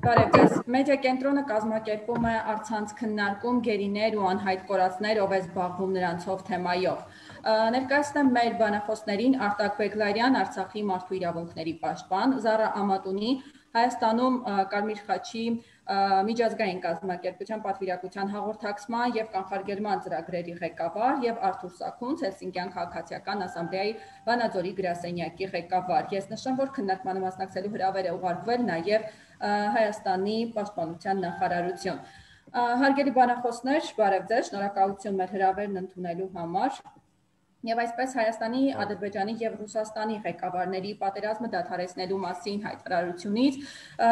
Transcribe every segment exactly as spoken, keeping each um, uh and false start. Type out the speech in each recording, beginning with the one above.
Բարև ձեզ, մեդիա կենտրոնը կազմակերպում է առցանց քննարկում գերիներ ու անհայտ կորածներ, ով է զբաղվում նրանցով թեմայով։ Ներկայացնեմ մեր բանախոսներին Արտակ Բեգլարյան, Արցախի մարդու իրավունքների պաշտպան, Զարա Ամատունի, Հայաստանում Կարմիր խաչի միջազգային կազմակերպության պատվիրակության հաղորդակցման և կանխարգելման ծրագրերի ղեկավար և Արթուր Սաքունց, Հելսինկյան քաղաքացիական ասամբլեայի Վանաձորի գրասենյակի ղեկավար։ Ես նշեմ, որ քննարկմանը մասնակցելու հրավեր է ուղարկվել նաև Հայաստանի պաշտպանության նախարարություն։ Հարգելի բանախոսներ, բարև ձեզ, շնորհակալություն մեր հրավերն ընդունելու համար։ Եվ այսպես Հայաստանի, Ադրբեջանի և Ռուսաստանի ղեկավարների պատերազմը դադարեցնելու մասին հայտարարությունից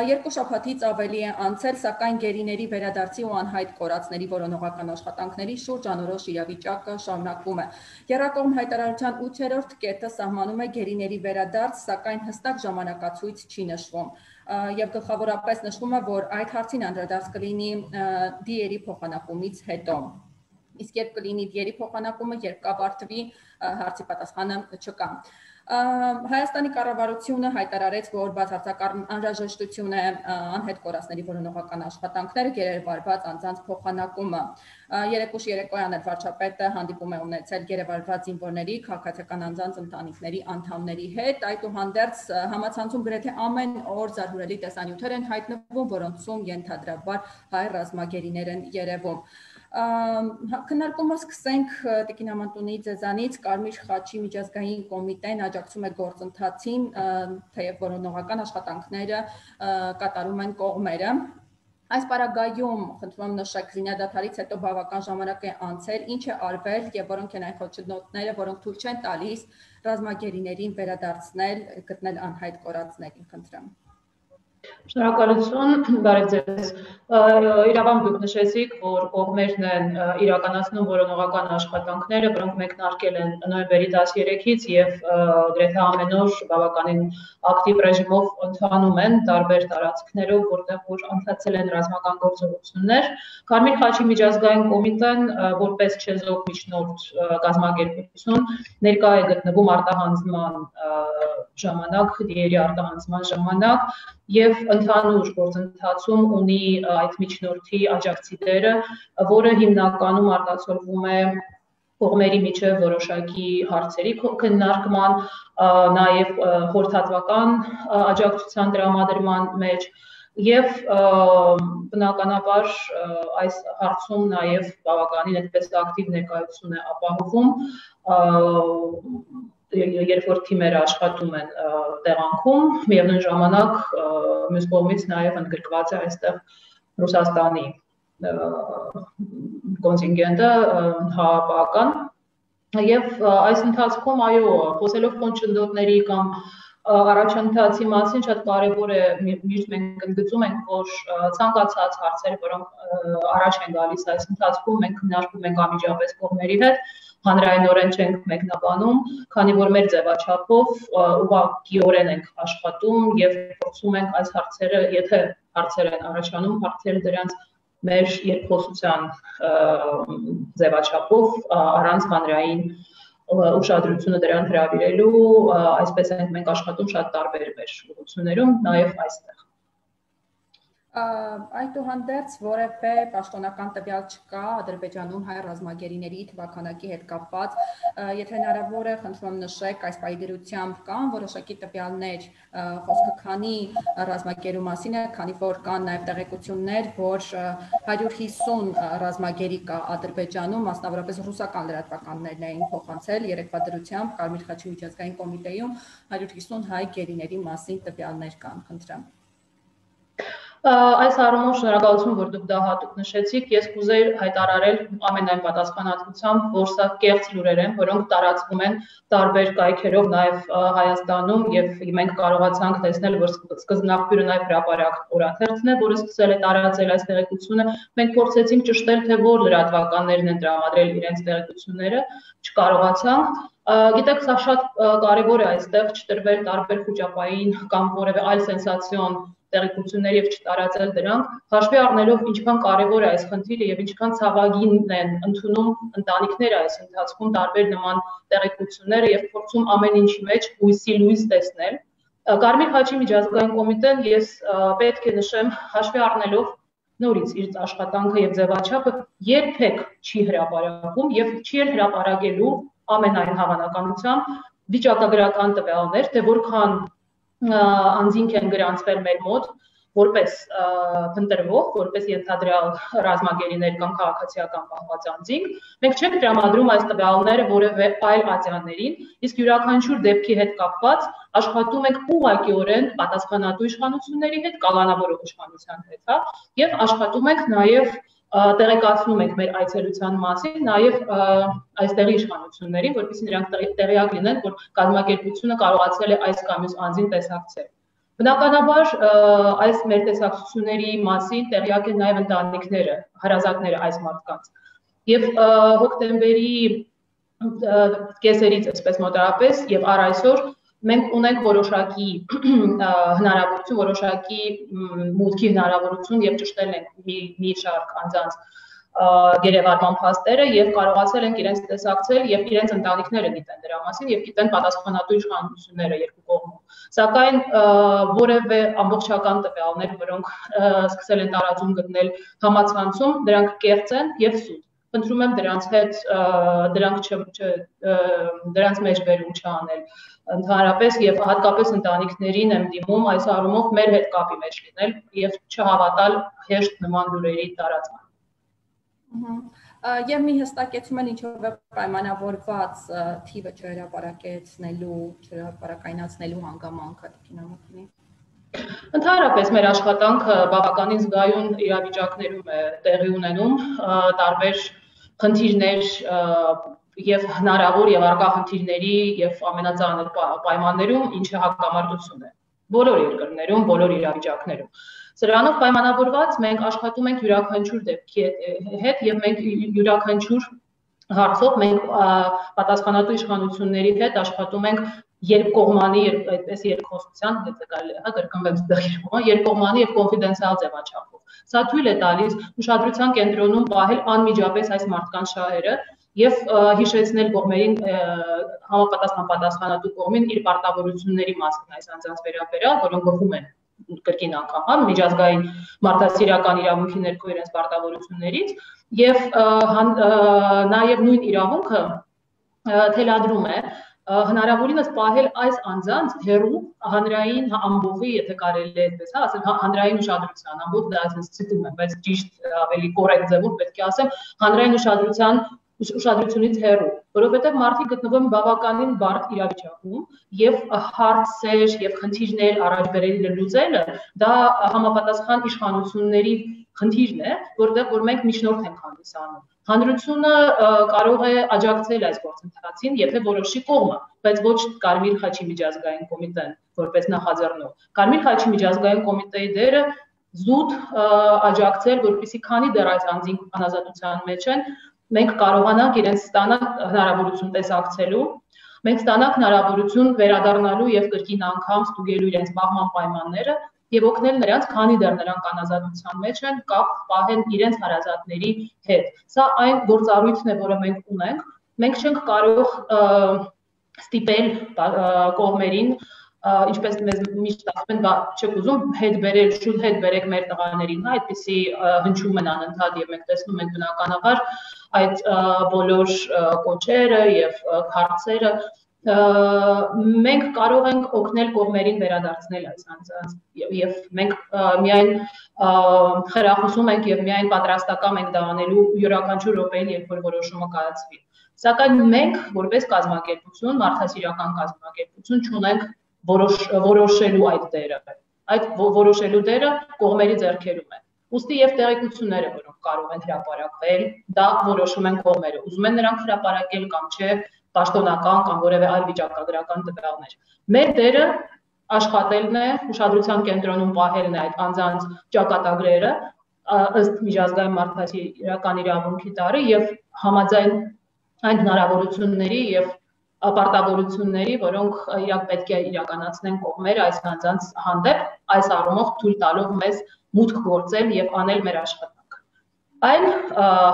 երկու շաբաթից ավելի է անցել, սակայն գերիների վերադարձի ու անհայտ կորածների որոնողական աշխատանքների շուրջ անորոշ իրավիճակը շարունակվում է։ Եռակողմ հայտարարության ութերորդ կետը սահմանում է գերիների վերադարձ, սակայն հստակ ժամանակացույց չի նշվում։ Եվ գլխավորապես նշվում է, որ այդ հարցին անդրադարձ կլինի դիերի փոխանակումից հետո։ Իսկ երբ կլինի դիերի փոխանակումը, երբ կավարտվի, հարցի պատասխանը չկա։ Հայաստանի կառավարությունը հայտարարեց, որ բացարձակ անհրաժեշտություն է անհետ կորածների որոնողական աշխատանքները, գերեվարված անձանց փոխանակումը։ Երեկուշ երեկոյան էլ վարչապետը հանդիպում է ունեցել գերեվարված զինվորների, քաղաքացիական անձանց ընտանիքների անդամների հետ։ Այդուհանդերձ համացանցում գրեթե ամեն օր զարհուրելի տեսանյութեր են հայտնվում, որոնցում ենթադրաբար հայ ռազմագերիներ են երևում։ Քննարկումը սկսենք Տիկին Ամատունի ձեզանից, Կարմիր խաչի միջազգային կոմիտեն աջակցում է գործընթացին, թեև որոնողական աշխատանքները կատարում են կողմերը։ Այս պարագայում, խնդրում եմ նշեք, զինադադարից հետո բավական ժամանակ է անցել, ինչ է արվել և որոնք են այն խոչընդոտները, որոնք թույլ չեն տալիս ռազմագերիներին վերադարձնել, գտնել անհայտ կորածներին, խնդրեմ։ Շնորհակալություն, բարև ձեզ։ Իրավամբ դուք նշեցիք, որ կողմերն են իրականացնում որոնողական աշխատանքները, որոնք մեկնարկել են նոյեմբերի տասներեքից և գրեթե ամեն օր բավականին ակտիվ ռեժիմով ընթանում են տարբեր տարածքներով, որտեղ որ ընթացել են ռազմական գործողություններ։ Կարմիր խաչի միջազգային կոմիտեն որպես չեզոք միջնորդ կազմակերպություն ներկա է գտնվում արտահանձնման ժամանակ, դիերի արտահանձնման ժամանակ և ընդհանուր գործընթացում ունի այդ միջնորդի աջակցի դերը, որը հիմնականում արտացոլվում է կողմերի միջև որոշակի հարցերի քննարկման, նաև խորհրդատվական աջակցության տրամադրման մեջ և բնականաբար այս հարցում նաև բավականին այդպես ակտիվ ներկայություն է ապահովում, երբ որ թիմերը աշխատում են տեղանքում, միևնույն ժամանակ մյուս կողմից նաև ընդգրկված է այստեղ Ռուսաստանի կոնտինգենտը հավաքական և այս ընթացքում այո, խոսելով խոչընդոտների կամ առաջընթացի մասին շատ կարևոր է, միշտ մենք ընդգծում ենք, որ ցանկացած հարցեր, որոնք առաջ են գալիս այս ընթացքում, մենք քննարկում ենք անմիջապես կողմերի հետ, հանրայնորեն չենք մեկնաբանում, քանի որ մեր ձևաչափով ուղղակիորեն ենք աշխատում և փորձում ենք այս հարցերը, եթե հարցեր են առաջանում, հարցերը դրանց մեր երկխոսության ձևաչափով առանց հանրային ուշադրությունը դրան հրավիրելու, այսպես ենք մենք աշխատում շատ տարբեր մեր ուղղություններում, նաև այստեղ։ Այդուհանդերձ որևէ պաշտոնական տվյալ չկա Ադրբեջանում հայ ռազմագերիների թվաքանակի հետ կապված, եթե հնարավոր է, խնդրում եմ նշեք, այս պահի դրությամբ կան որոշակի տվյալներ, խոսքը քանի ռազմագերու մասին է, քանի որ կան նաև տեղեկություններ, որ հարյուր հիսուն ռազմագերի կա Ադրբեջանում, մասնավորապես ռուսական լրատվականներն էին փոխանցել երեկվա դրությամբ Կարմիր խաչի միջազգային կոմիտեում հարյուր հիսուն հայ գերիների մասին տվյալներ կան, խնդրեմ։ Այս առումով շնորհակալություն, որ դուք դա հատուկ նշեցիք, ես կուզեի հայտարարել ամենայն պատասխանատվությամբ, որ սա կեղծ լուրեր են, որոնք տարածվում են տարբեր կայքերով նաև Հայաստանում և մենք կարողացանք տեսնել, որ սկզբնաղբյուրը նաև հրապարակ օրաթերթն է, որը սկսել է տարածել այս տեղեկությունը, մենք փորձեցինք ճշտել, թե որ լրատվականներն են տրամադրել իրենց տեղեկությունները, չկարողացանք։ Գիտեք, սա շատ կարևոր է այստեղ չտրվել տարբեր խուճապային կամ որևէ այլ սենսացիոն տեղեկություններ և չտարածել դրանք, հաշվի առնելով ինչքան կարևոր է այս խնդիրը և ինչքան ցավագին են ընդունում ընտանիքները այս ընթացքում տարբեր նման տեղեկությունները և փորձում ամեն ինչի մեջ հույսի լույս տեսնել, Կարմիր խաչի միջազգային կոմիտեն ես պետք է նշեմ հաշվի առնելով նորից իր աշխատանքը եւ ձևաչափը երբեք չի հրապարակում եւ չի էլ հրապարակելու ամենայն հավանականությամբ վիճակագրական տվյալներ, թե որքան անձինք են գրանցվել մեր մոտ որպես փնտրվող, որպես ենթադրյալ ռազմագերիներ կամ քաղաքացիական պահված անձինք, մենք չենք տրամադրում այս տվյալները որևէ այլ ատյաններին, իսկ յուրաքանչյուր դեպքի հետ կապված աշխատում ենք ուղղակիորեն պատասխանատու իշխանությունների հետ, կալանավորող իշխանության հետ, հա, եւ աշխատում ենք նաեւ տեղեկացնում ենք մեր այցելության մասին նաև այստեղի իշխանություններին, որպեսզի նրանք տեղյակ լինեն, որ կազմակերպությունը կարողացել է այս կամ մյուս անձին տեսակցել։ Բնականաբար այս մեր տեսակցությունների մասին տեղյակ են նաև ընտանիքները, հարազատները այս մարդկանց։ Եվ հոկտեմբերի կեսերից, այսպես մոտավորապես, եւ առ այսօր մենք ունենք որոշակի հնարավորություն, որոշակի մուտքի հնարավորություն եւ ճշտել ենք մի շարք անձանց գերեվարման փաստերը եւ կարողացել ենք իրենց տեսակցել եւ իրենց ընտանիքները գիտեն դրա մասին եւ գիտեն պատասխանատու իշխանությունները երկու կողմում։ Սակայն որևէ ամբողջական տվյալներ, որոնք սկսել են տարածում գտնել համացանցում, դրանք կեղծ են եւ սուտ։ Խնդրում եմ դրանց հետ դրանք դրանց մեջ վերում չանել ընդհանրապես եւ հատկապես ընտանիքներին եմ դիմում այս առումով մեր հետ կապի մեջ լինել եւ չհավատալ հեշտ նման լուրերի տարածմանը։ Եվ մի հստակեցում են ինչով է պայմանավորված թիվը չհրապարակեցնելու, չհրապարակայնացնելու հանգամանքը տիկինամոքինի։ Ընդհանրապես մեր աշխատանքը բավականին զգայուն իրավիճակներում է տեղի ունենում, տարբեր խնդիրներ եւ հնարավոր եւ առկա խնդիրների եւ ամենածանր պայմաններում, ինչը հակամարտություն է բոլոր երկրներում, բոլոր իրավիճակներում։ Սրանով պայմանավորված մենք աշխատում ենք յուրաքանչյուր դեպքի հետ եւ մենք յուրաքանչյուր հարցով մենք պատասխանատու իշխանությունների հետ աշխատում ենք երկկողմանի, այդպես երկխոսության, եթե կարելի է, հա, կրկնվեմ ստեղծումը, երկկողմանի եւ կոնֆիդենցիալ ձևաչափով։ Սա թույլ է տալիս ուշադրության կենտրոնում պահել անմիջապես այս մարդկանց շահերը եւ հիշեցնել կողմերին համապատասխան պատասխանատու կողմին իր պարտավորությունների մասին այս անձանց վերաբերյալ, որոնք գովում են կրկին անգամ, հա, միջազգային մարդասիրական իրավունքի ներքո իրենց պարտավորություններից եւ նաեւ նույն իրավունքը թելադրում է հնարավորինս պահել այս անձանց հեռու հանրային ամբողջի, եթե կարելի է այդպես ասել, հանրային ուշադրության ամբողջ դա այսպես ցիտում եմ, բայց ճիշտ ավելի կոռեկտ ձևով պետք է ասեմ, հանրային ուշադրության ուշադրությունից հեռու, որովհետև մարդիկ գտնվում են բավականին բարդ իրավիճակում եւ հարցեր եւ խնդիրներ առաջ բերել լուծելը դա համապատասխան իշխանությունների խնդիրն է, որտեղ որ մենք միջնորդ ենք հանդիսանում։ Հանրությունը կարող է աջակցել այս գործընթացին, եթե որոշի կողմը, բայց ոչ Կարմիր խաչի միջազգային կոմիտեն, որպես նախաձեռնող։ Կարմիր խաչի միջազգային կոմիտեի դերը զուտ աջակցել, որպեսզի քանի դեռ այս անձինք անազատության մեջ են, մենք կարողանանք իրենց ստանալ հնարավորություն տեսակցելու, մենք ստանանք հնարավորություն վերադառնալու եւ կրկին անգամ ստուգելու իրենց բախման պայմանները եւ օգնել նրանց, քանի դեռ նրանք անազատության մեջ են, կապ պահեն իրենց հարազատների հետ։ Սա այն գործառույթն է, որը մենք ունենք։ Մենք չենք կարող ստիպել կողմերին, ինչպես մեզ միշտ ասում են, բա չեք ուզում հետ բերել, շուտ հետ բերեք մեր տղաներին, հա, այդպեսի հնչում են անընդհատ եւ մենք տեսնում ենք բնականաբար այդ բոլոր կոչերը եւ հարցերը մենք կարող ենք օգնել կողմերին վերադարձնել այս անձանց եւ մենք միայն խրախուսում ենք եւ միայն պատրաստական ենք դա անելու յուրաքանչյուր րոպեին, երբ որ որոշումը կայացվի։ Սակայն մենք որպես կազմակերպություն, մարդասիրական կազմակերպություն չունենք որոշելու այդ դերը։ Այդ որոշելու դերը կողմերի ձեռքերում է։ Ուստի եւ տեղեկությունները, որոնք կարող են հրապարակվել, դա որոշում են կողմերը։ Ուզում են նրանք հրապարակել կամ չէ, պաշտոնական կամ որևէ այլ վիճակագրական տվյալներ։ Մեր դերը աշխատելն է, ուշադրության կենտրոնում պահելն է այդ անձանց ճակատագրերը ըստ միջազգային մարդասիրական իրավունքի տարի եւ համաձայն այն հնարավորությունների եւ պարտավորությունների, որոնք իրակ պետք է իրականացնեն կողմերը այս անձանց հանդեպ, այս առումով թույլ տալով մեզ մուտք գործել եւ անել մեր աշխատանքը։ Այն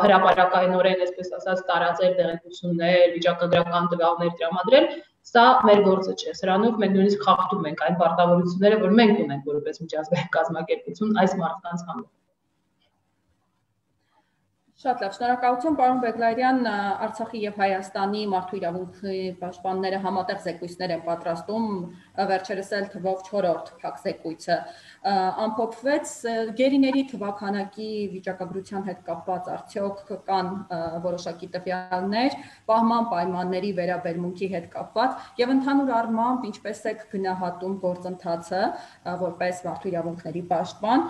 հրապարակայնորեն, այսպես ասած, տարածել տեղեկություններ, վիճակագրական տվյալներ տրամադրել, Սա մեր գործը չէ, սրանով մենք նույնիսկ խախտում ենք այն պարտավորությունները, որ մենք ունենք որպես միջազգային կազմակերպություն այս մարդկանց համար։ Շատ լավ, շնորհակալություն պարոն Բեգլարյան, Արցախի եւ Հայաստանի մարդու իրավունքների պաշտպանները համատեղ զեկույցներ են պատրաստում, վերջերս էլ թվով չորրորդ փակ զեկույցը ամփոփվեց, գերիների թվաքանակի վիճակագրության հետ կապված արդյոք կան որոշակի տվյալներ, պահման պայմանների վերաբերմունքի հետ կապված եւ ընդհանուր առմամբ ինչպես է գնահատում գործընթացը որպես մարդու իրավունքների պաշտպան,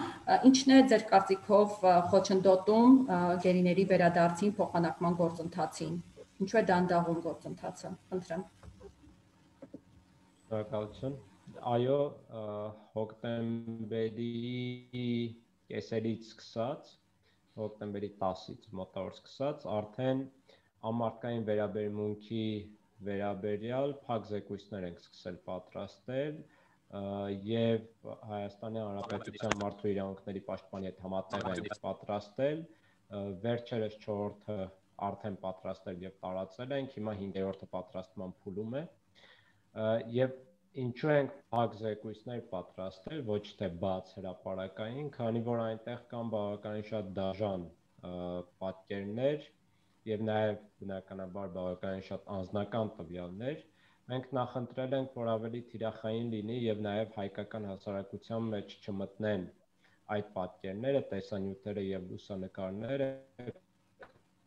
ինչն է ձեր կարծիքով խոչընդոտում գերիների վերադարձին փոխանակման գործընթացին, ինչու է դանդաղում գործընթացը, խնդրեմ։ Շնորհակալություն։ Այո, հոկտեմբերի կեսերից սկսած, հոկտեմբերի տասից մոտավոր սկսած, արդեն ամարտկային վերաբերմունքի վերաբերյալ փակ զեկույցներ ենք սկսել պատրաստել եւ Հայաստանի Հանրապետության մարդու իրավունքների պաշտպանի հետ համատեղ ենք պատրաստել, վերջերս չորրորդը արդեն պատրաստել եւ տարածել ենք, հիմա հինգերորդը պատրաստման փուլում է եւ ինչու ենք փակ զեկույցներ պատրաստել, ոչ թե բաց հրապարակային, քանի որ այնտեղ կան բավականին շատ դաժան պատկերներ եւ նաեւ բնականաբար բավականին շատ անձնական տվյալներ, մենք նախընտրել ենք, որ ավելի թիրախային լինի եւ նաեւ հայկական հասարակության մեջ չմտնեն այդ պատկերները, տեսանյութերը եւ լուսանկարները,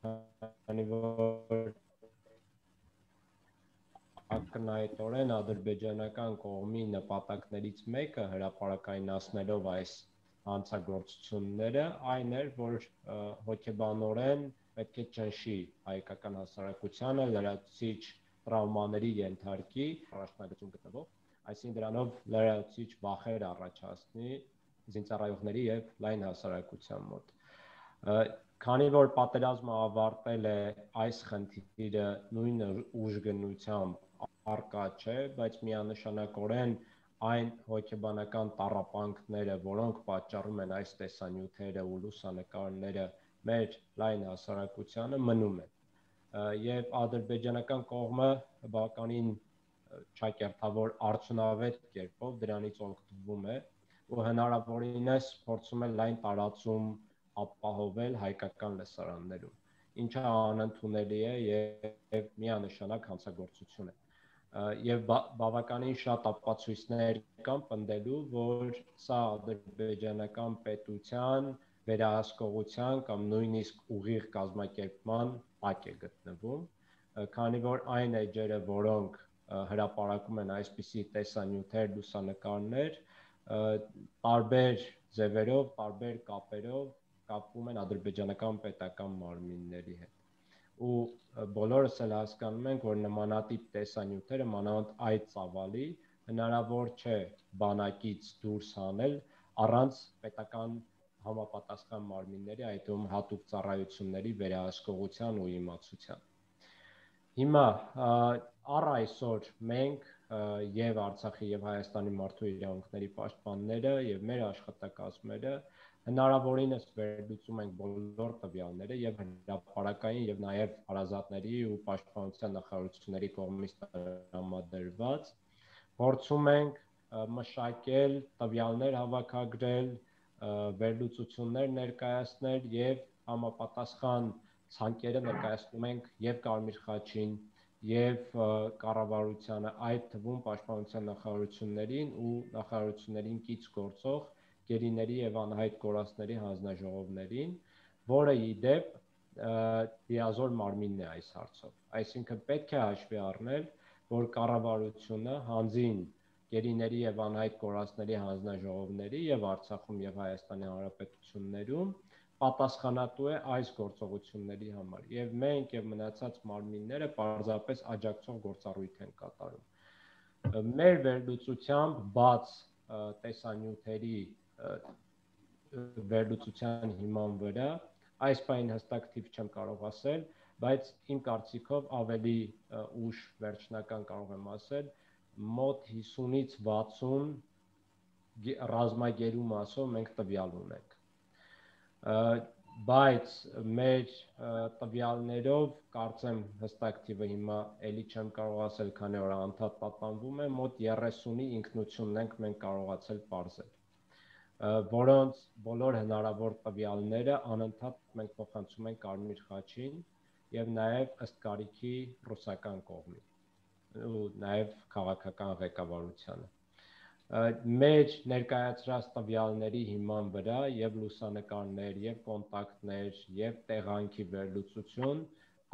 քանի որ ակնհայտորեն ադրբեջանական կողմի նպատակներից մեկը հրապարակայնացնելով այս հանցագործությունները այն էր, որ հոգեբանորեն պետք է ճնշի հայկական հասարակությանը, լրացուցիչ տրավմաների ենթարկի, առաջնագծում գտնվող, այսինքն դրանով լրացուցիչ վախեր առաջացնի զինծառայողների եւ լայն հասարակության մոտ։ Քանի որ պատերազմը ավարտել է, այս խնդիրը նույն ուժգնությամբ առկա չէ, բայց միանշանակորեն այն հոգեբանական տառապանքները, որոնք պատճառում են այս տեսանյութերը ու լուսանկարները մեր լայն հասարակությանը, մնում են։ Եվ ադրբեջանական կողմը բավականին ճակերտավոր արդյունավետ կերպով դրանից օգտվում է ու հնարավորինս փորձում է լայն տարածում ապահովել հայկական լսարաններում, ինչը անընդունելի է եւ միանշանակ հանցագործություն է։ Եվ բավականին շատ ապացույցներ կան պնդելու, որ սա ադրբեջանական պետության վերահսկողության կամ նույնիսկ ուղիղ կազմակերպման տակ է գտնվում, քանի որ այն էջերը, որոնք հրապարակում են այսպիսի տեսանյութեր, լուսանկարներ, տարբեր ձևերով, տարբեր կապերով կապվում են ադրբեջանական պետական մարմինների հետ։ Ու բոլորս էլ հասկանում ենք, որ նմանատիպ տեսանյութերը մանավանդ այդ ծավալի հնարավոր չէ բանակից դուրս հանել առանց պետական համապատասխան մարմինների, այդ թվում հատուկ ծառայությունների վերահսկողության ու իմացության։ Հիմա առ այսօր մենք եւ Արցախի եւ Հայաստանի մարդու իրավունքների պաշտպանները եւ մեր աշխատակազմերը հնարավորինս վերլուծում ենք բոլոր տվյալները եւ հրապարակային եւ նաեւ հարազատների ու պաշտպանության նախարարությունների կողմից տրամադրված, փորձում ենք մշակել տվյալներ հավաքագրել, վերլուծություններ ներկայացնել եւ համապատասխան ցանկերը ներկայացնում ենք եւ Կարմիր խաչին եւ կառավարությանը, այդ թվում պաշտպանության նախարարություններին ու նախարարություններին կից գործող գերիների եւ անհայտ կորածների հանձնաժողովներին, որը ի դեպ լիազոր մարմինն է այս հարցով։ Այսինքն պետք է հաշվի առնել, որ կառավարությունը հանձին գերիների եւ անհայտ կորածների հանձնաժողովների եւ Արցախում եւ Հայաստանի Հանրապետություններում պատասխանատու է այս գործողությունների համար եւ մենք եւ մնացած մարմինները պարզապես աջակցող գործառույթ են կատարում։ Մեր վերլուծությամբ բաց տեսանյութերի վերլուծության հիման վրա այս բանին հստակ թիվ չեմ կարող ասել, բայց իմ կարծիքով ավելի ուշ վերջնական կարող եմ ասել, մոտ հիսունից վաթսուն ռազմագերու մասով մենք տվյալ ունենք։ բայց մեր տվյալներով կարծեմ հստակ թիվը հիմա էլի չեմ կարող ասել, քանի որ անդադ պատանվում է, մոտ երեսունի ինքնությունն ենք մենք կարողացել պարզել, որոնց բոլոր հնարավոր տվյալները անընդհատ մենք փոխանցում ենք Կարմիր խաչին եւ նաեւ ըստ կարիքի ռուսական կողմին ու նաեւ քաղաքական ղեկավարությանը։ Մեր ներկայացրած տվյալների հիման վրա եւ լուսանկարներ, եւ կոնտակտներ, եւ տեղանքի վերլուծություն,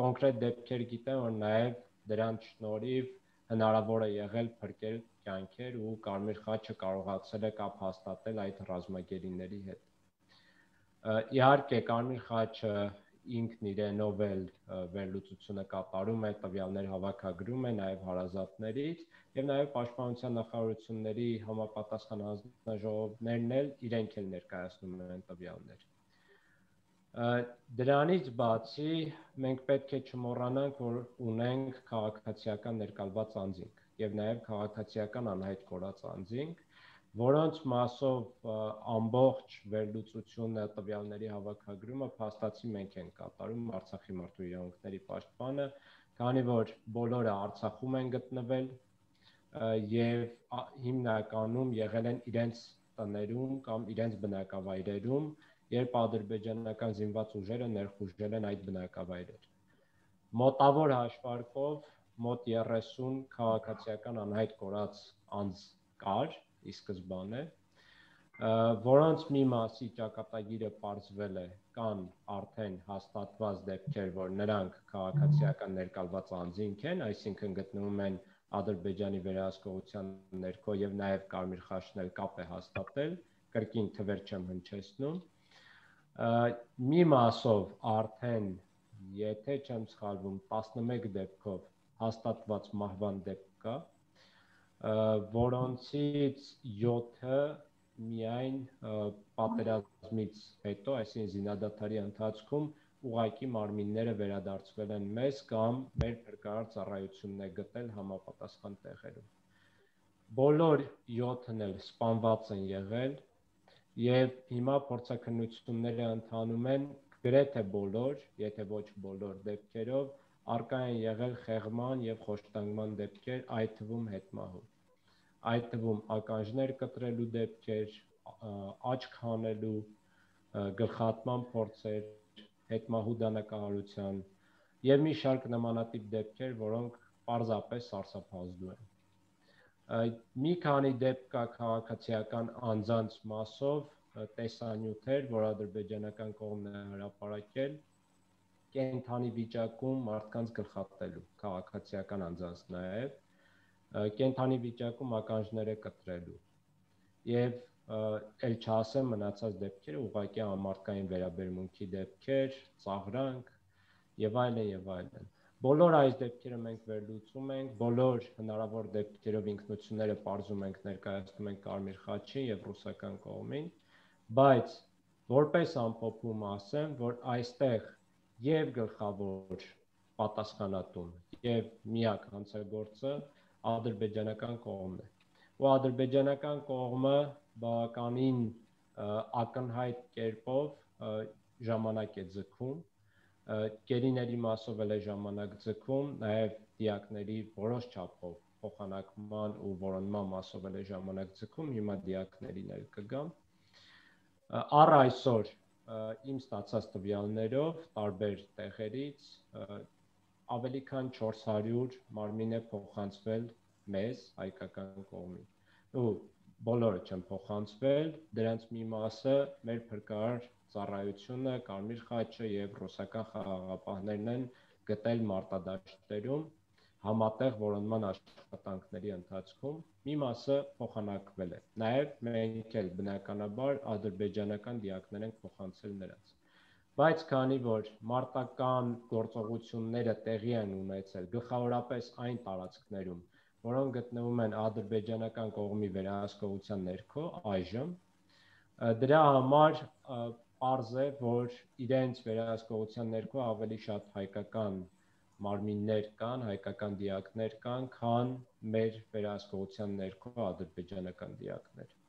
կոնկրետ դեպքեր գիտեմ, որ նաեւ դրանց շնորհիվ հնարավոր է եղել փրկել կյանքեր ու Կարմիր խաչը կարողացել է կապ հաստատել այդ ռազմագերիների հետ։ Իհարկե, Կարմիր խաչը ինքն իրենով էլ վերլուծությունը կատարում է, տվյալներ հավաքագրում է նաեւ հարազատներից եւ նաեւ պաշտպանության նախարարությունների համապատասխան հանձնաժողովներն էլ իրենք էլ ներկայացնում են տվյալներ։ Դրանից բացի մենք պետք է չմոռանանք, որ ունենք քաղաքացիական ներկալված անձինք եւ նաեւ քաղաքացիական անհայտ կորած անձինք, որոնց մասով ամբողջ վերլուծությունը, տվյալների հավաքագրումը փաստացի մենք ենք կատարում Արցախի մարդու իրավունքների պաշտպանը, քանի որ բոլորը Արցախում են գտնվել եւ հիմնականում եղել են իրենց տներում կամ իրենց բնակավայրերում, երբ ադրբեջանական զինված ուժերը ներխուժել են այդ բնակավայրեր։ Մոտավոր հաշվարկով մոտ երեսուն քաղաքացիական անհայտ կորած անձ կար ի սկզբանե, որոնց մի մասի ճակատագիրը պարզվել է, կան արդեն հաստատված դեպքեր, որ նրանք քաղաքացիական ներկալված անձինք են, այսինքն գտնվում են Ադրբեջանի վերահսկողության ներքո եւ նաեւ Կարմիր խաչն էլ կապ է հաստատել, կրկին թվեր չեմ հնչեցնում։ Մի մասով արդեն, եթե չեմ սխալվում, տասնմեկ դեպքով հաստատված մահվան դեպք կա, որոնցից յոթը միայն պատերազմից հետո, այսինքն զինադադարի ընթացքում ուղղակի մարմինները վերադարձվել են մեզ կամ մեր փրկարար ծառայությունն է գտել համապատասխան տեղերում։ Բոլոր յոթն էլ սպանված են եղել եւ հիմա փորձաքննությունները ընթանում են գրեթե բոլոր, եթե ոչ բոլոր դեպքերով արկա են եղել խեղման եւ խոշտանգման դեպքեր, այդ թվում հետմահու։ Այդ թվում ականջներ կտրելու դեպքեր, աչք հանելու, գլխատման փորձեր, հետմահու դանակահարության եւ մի շարք նմանատիպ դեպքեր, որոնք պարզապես սարսափազդու են։ Մի քանի դեպք կա քաղաքացիական անձանց մասով տեսանյութեր, որ ադրբեջանական կողմն է հրապարակել կենթանի վիճակում մարդկանց գլխատելու, քաղաքացիական անձանց նաեւ կենթանի վիճակում ականջները կտրելու եւ ել չասեմ մնացած դեպքերը ուղղակի ամարտկային վերաբերմունքի դեպքեր, ծաղրանք եւ այլն եւ այլն։ Բոլոր այս դեպքերը մենք վերլուծում ենք, բոլոր հնարավոր դեպքերով ինքնությունները պարզում ենք, ներկայացնում ենք Կարմիր խաչին եւ ռուսական կողմին, բայց որպես ամփոփում ասեմ, որ այստեղ եւ գլխավոր պատասխանատուն եւ միակ հանցագործը ադրբեջանական կողմն է։ Ու ադրբեջանական կողմը բավականին ակնհայտ կերպով ժամանակ է ձգում, գերիների մասով էլ է ժամանակ ձգում, նաև դիակների որոշ չափով փոխանակման ու որոնման մասով էլ է ժամանակ ձգում, հիմա դիակներին էլ կգամ։ Առ այսօր իմ ստացած տվյալներով տարբեր տեղերից ավելի քան չորս հարյուր մարմին է փոխանցվել մեզ հայկական կողմին։ Ու բոլորը չեն փոխանցվել, դրանց մի մասը մեր փրկարար ծառայությունը, Կարմիր խաչը եւ ռուսական խաղաղապահներն են գտել մարտադաշտերում համատեղ որոնման աշխատանքների ընթացքում, մի մասը փոխանակվել է։ Նաեւ մենք էլ բնականաբար ադրբեջանական դիակներ ենք փոխանցել նրանց։ Բայց քանի որ մարտական գործողությունները տեղի են ունեցել գլխավորապես այն տարածքներում, որոնք գտնվում են ադրբեջանական կողմի վերահսկողության ներքո այժմ, դրա համար պարզ է, որ իրենց վերահսկողության ներքո ավելի շատ հայկական մարմիններ կան, հայկական դիակներ կան, քան մեր վերահսկողության ներքո ադրբեջանական դիակներ։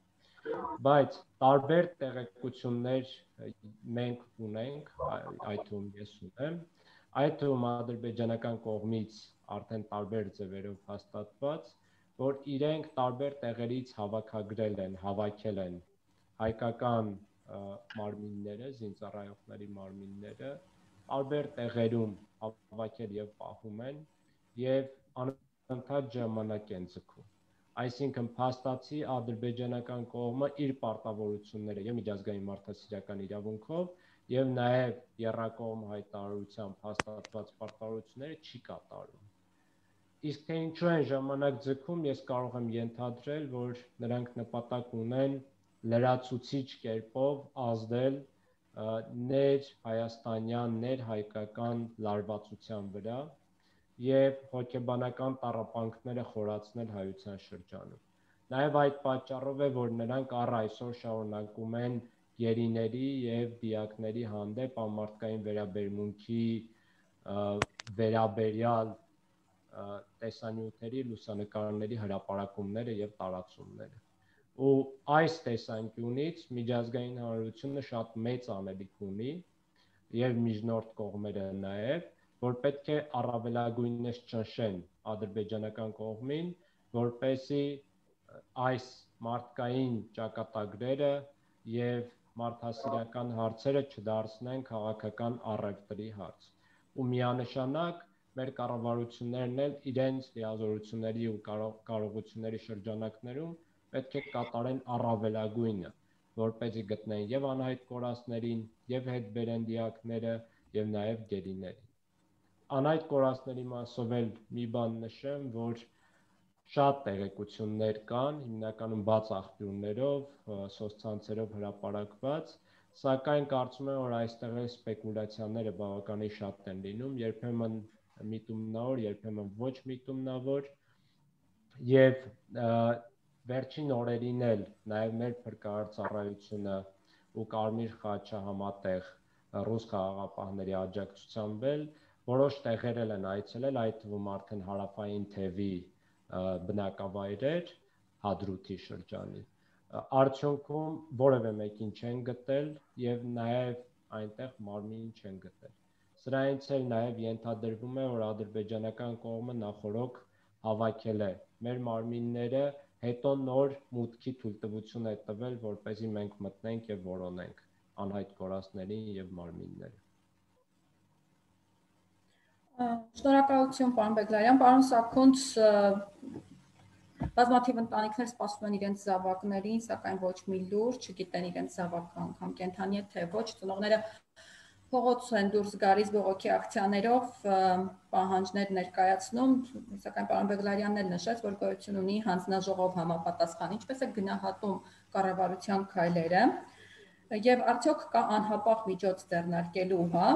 Բայց տարբեր տեղեկություններ մենք ունենք, այդ թվում ես ունեմ, այդ թվում ադրբեջանական կողմից արդեն տարբեր ձևերով հաստատված, որ իրենք տարբեր տեղերից հավաքագրել են, հավաքել են հայկական մարմինները, զինծառայողների մարմինները, տարբեր տեղերում հավաքել եւ պահում են եւ անընդհատ ժամանակ են ձգում։ Այսինքն փաստացի ադրբեջանական կողմը իր պարտավորությունները եւ միջազգային մարդասիրական իրավունքով եւ նաեւ եռակողմ հայտարարությամբ հաստատված պարտավորությունները չի կատարում։ Իսկ թե ինչու են ժամանակ ձգում, ես կարող եմ ենթադրել, որ նրանք նպատակ ունեն լրացուցիչ կերպով ազդել ներ հայաստանյան, ներ հայկական լարվածության վրա եւ հոգեբանական տառապանքները խորացնել հայության շրջանում։ Նաեւ այդ պատճառով է, որ նրանք առ այսօր շարունակում են գերիների եւ դիակների հանդեպ անմարդկային վերաբերմունքի վերաբերյալ տեսանյութերի, լուսանկարների հրապարակումները եւ տարածումները։ Ու այս տեսանկյունից միջազգային հանրությունը շատ մեծ անելիք ունի եւ միջնորդ կողմերը նաեւ, որ պետք է առավելագույնս ճնշեն ադրբեջանական կողմին, որպեսզի այս մարդկային ճակատագրերը եւ մարդասիրական հարցերը չդարձնեն քաղաքական առևտրի հարց։ Ու միանշանակ մեր կառավարություններն էլ իրենց լիազորությունների ու կարողությունների շրջանակներում պետք է կատարեն առավելագույնը, որպեսզի գտնեն եւ անհայտ կորածներին, եւ հետ բերեն դիակները, եւ նաեւ գերիներին։ Անհայտ կորածների մասով էլ մի բան նշեմ, որ շատ տեղեկություններ կան, հիմնականում բաց աղբյուրներով, սոցցանցերով հրապարակված, սակայն կարծում եմ, որ այստեղ էլ սպեկուլյացիաները բավականին շատ են լինում, երբեմն միտումնավոր, երբեմն ոչ միտումնավոր, եւ վերջին օրերին էլ նաեւ մեր փրկարար ծառայությունը ու Կարմիր խաչը համատեղ ռուս խաղաղապահների աջակցությամբ էլ որոշ տեղեր են այցելել, այդ թվում արդեն հարավային թևի բնակավայրեր Հադրութի շրջանի։ Արդյունքում որևէ մեկին չեն գտել եւ նաեւ այնտեղ մարմին չեն գտել։ Սրանից էլ նաեւ ենթադրվում է, որ ադրբեջանական կողմը նախորոք հավաքել է մեր մարմինները, հետո նոր մուտքի թույլտվություն է տվել, որպեսզի մենք մտնենք եւ որոնենք անհայտ կորածներին եւ մարմինները։ Շնորհակալություն, պարոն Բեգլարյան, պարոն Սաքունց, բազմաթիվ ընտանիքներ սպասում են իրենց զավակներին, սակայն ոչ մի լուր, չգիտեն իրենց զավակը անգամ կենդանի է թե ոչ, ծնողները փողոց են դուրս գալիս բողոքի ակցիաներով, պահանջներ ներկայացնում, սակայն պարոն Բեգլարյանն էլ նշեց, որ գոյություն ունի հանձնաժողով համապատասխան, ինչպես է գնահատում կառավարության քայլերը, եւ արդյոք կա անհապաղ միջոց ձեռնարկելու, հա,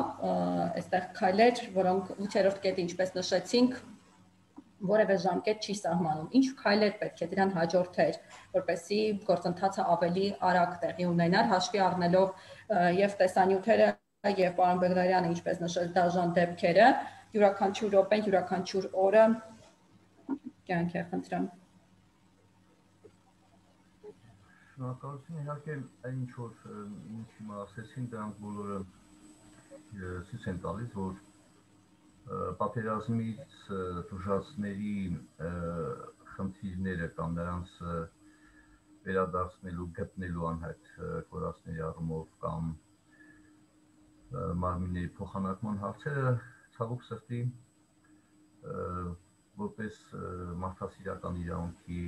այստեղ քայլեր, որոնք ութերորդ կետը, ինչպես նշեցինք, որևէ ժամկետ չի սահմանում։ Ինչ քայլեր պետք է դրան հաջորդեր, որպեսզի գործընթացը ավելի արագ տեղի ունենար, հաշվի առնելով եւ տեսանյութերը եւ պարոն Բեգլարյանը, ինչպես նշեց, դաժան դեպքերը, յուրաքանչյուր րոպեն, յուրաքանչյուր օրը կյանք է խնդրեմ։ Շնորհակալություն, իհարկե այն ինչ որ ինչ հիմա ասեցին, դրանք բոլորը ցույց են տալիս, որ պատերազմից տուժածների խնդիրները կամ նրանց վերադարձնելու, գտնելու անհայտ կորածների առումով կամ մարմինների փոխանակման հարցերը ցավոք սրտի որպես մարդասիրական իրավունքի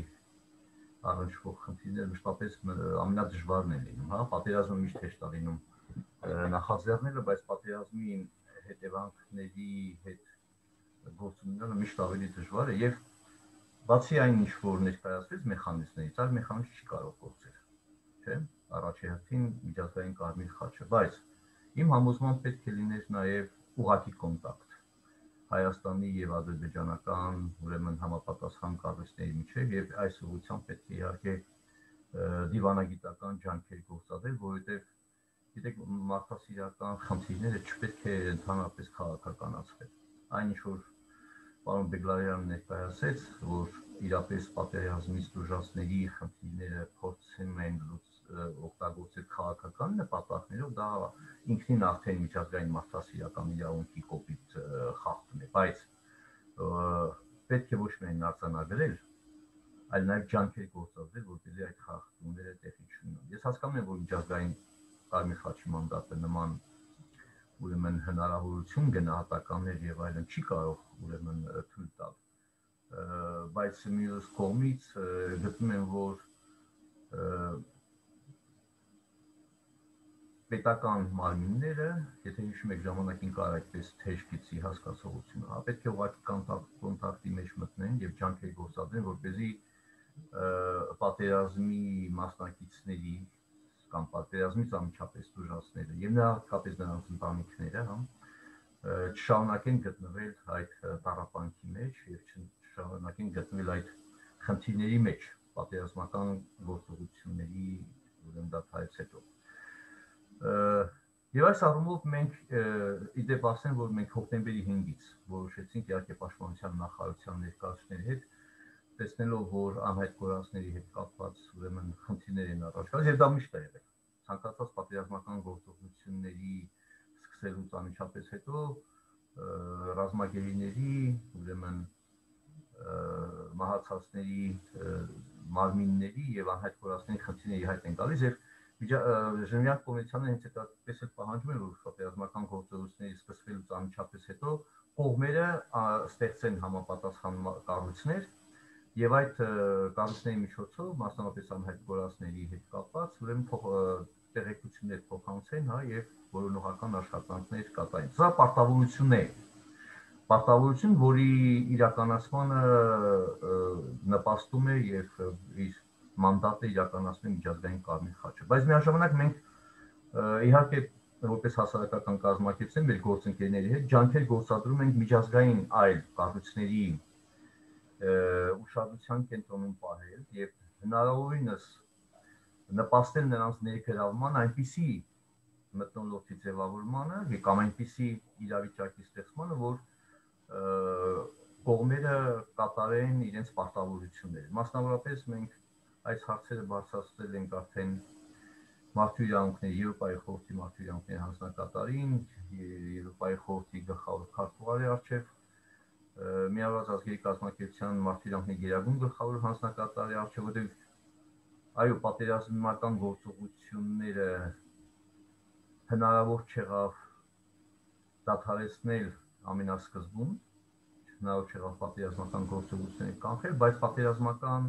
առնչվող խնդիրներ մշտապես ամենադժվարն են լինում, հա, պատերազմը միշտ հեշտ է լինում նախաձեռնելը, բայց պատերազմի հետևանքների հետ գործունեությունը միշտ ավելի դժվար է եւ բացի այն ինչ որ ներկայացվեց մեխանիզմներից, այլ մեխանիզմ չի կարող գործել, չէ՞, առաջի հերթին միջազգային Կարմիր խաչը, բայց իմ համոզմամբ պետք է լիներ նաեւ ուղղակի կոնտակտ Հայաստանի եւ ադրբեջանական, ուրեմն համապատասխան կառույցների միջեւ եւ այս ուղղությամբ պետք է իհարկե դիվանագիտական ջանքեր գործադրել, որովհետեւ գիտեք մարդասիրական խնդիրները չպետք է ընդհանրապես քաղաքականացվեն։ Այն ինչ որ պարոն Բեգլարյանը ներկայացրեց, որ իրապես պատերազմից տուժածների խնդիրները փորձում են օգտագործել օգտագործել քաղաքական նպատակներով, դա ինքնին արդեն միջազգային մարդասիրական իրավունքի կոպիտ խախտում է, բայց պետք է ոչ միայն արձանագրել, այլ նաև ջանքեր գործադրել, որպեսզի այդ խախտումները տեղի չունենան։ Ես հասկանում եմ, որ միջազգային Կարմիր խաչի մանդատը նման ուրեմն հնարավորություն գնահատականներ եւ այլն չի կարող ուրեմն թույլ տալ, բայց մյուս կողմից գտնում եմ, որ պետական մարմինները, եթե հիշում եք ժամանակին կար այդպես թեժ գծի հասկացողությունը, հա պետք է ուղղակի կոնտակտի մեջ մտնեն եւ ջանքեր գործադրեն, որպեսզի պատերազմի մասնակիցների կամ պատերազմից անմիջապես տուժածները եւ հատկապես նրանց ընտանիքները, հա, չշարունակեն գտնվել այդ տառապանքի մեջ եւ չշարունակեն գտնվել այդ խնդիրների մեջ պատերազմական գործողությունների ուրեմն դադարից հետո։ Եվ այս առումով մենք իդեպ ասեմ, որ մենք հոկտեմբերի հինգից որոշեցինք իհարկե պաշտպանության նախարարության ներկայացուցիչների հետ, տեսնելով, որ անհայտ կորածների հետ կապված ուրեմն խնդիրներ են առաջ գալիս, եւ դա միշտ է եղել։ Ցանկացած պատերազմական գործողությունների սկսելուց անմիջապես հետո ռազմագերիների ուրեմն մահացածների մարմինների եւ անհայտ կորածների խնդիրների հայտ են գալիս եւ Ժնևյան կոնվենցիաները հենց այդպես էլ պահանջում են, որ պատերազմական գործողությունների սկսվելուց անմիջապես հետո կողմերը ստեղծեն համապատասխան կառույցներ եւ այդ կառույցների միջոցով մասնավորապես անհայտ կորածների հետ կապված ուրեմն տեղեկություններ փոխանցեն, հա, եւ որոնողական աշխատանքներ կատարեն։ Սա պարտավորություն է։ Պարտավորություն, որի իրականացմանը նպաստում է եւ իր մանդատը իրականացնում է միջազգային Կարմիր խաչը։ Բայց միաժամանակ մենք իհարկե որպես հասարակական կազմակերպություն մեր գործընկերների հետ ջանքեր գործադրում ենք միջազգային այլ կառույցների ուշադրության կենտրոնում պահել եւ հնարավորինս նպաստել նրանց ներգրավման այնպիսի մթնոլորտի ձևավորմանը կամ այնպիսի իրավիճակի ստեղծմանը, որ կողմերը կատարեն իրենց պարտավորությունները։ Մասնավորապես մենք այս հարցերը բարձրացրել ենք արդեն Մարդու իրավունքների Եվրոպայի խորհրդի Մարդու իրավունքների հանձնակատարին, Եվրոպայի խորհրդի գլխավոր քարտուղարի առջև, Միավորված ազգերի կազմակերպության Մարդու իրավունքների գերագույն գլխավոր հանձնակատարի առջև, որտեղ այո, պատերազմական գործողությունները հնարավոր չեղավ դադարեցնել ամենասկզբում, հնարավոր չեղավ պատերազմական գործողություններ կանխել, բայց պատերազմական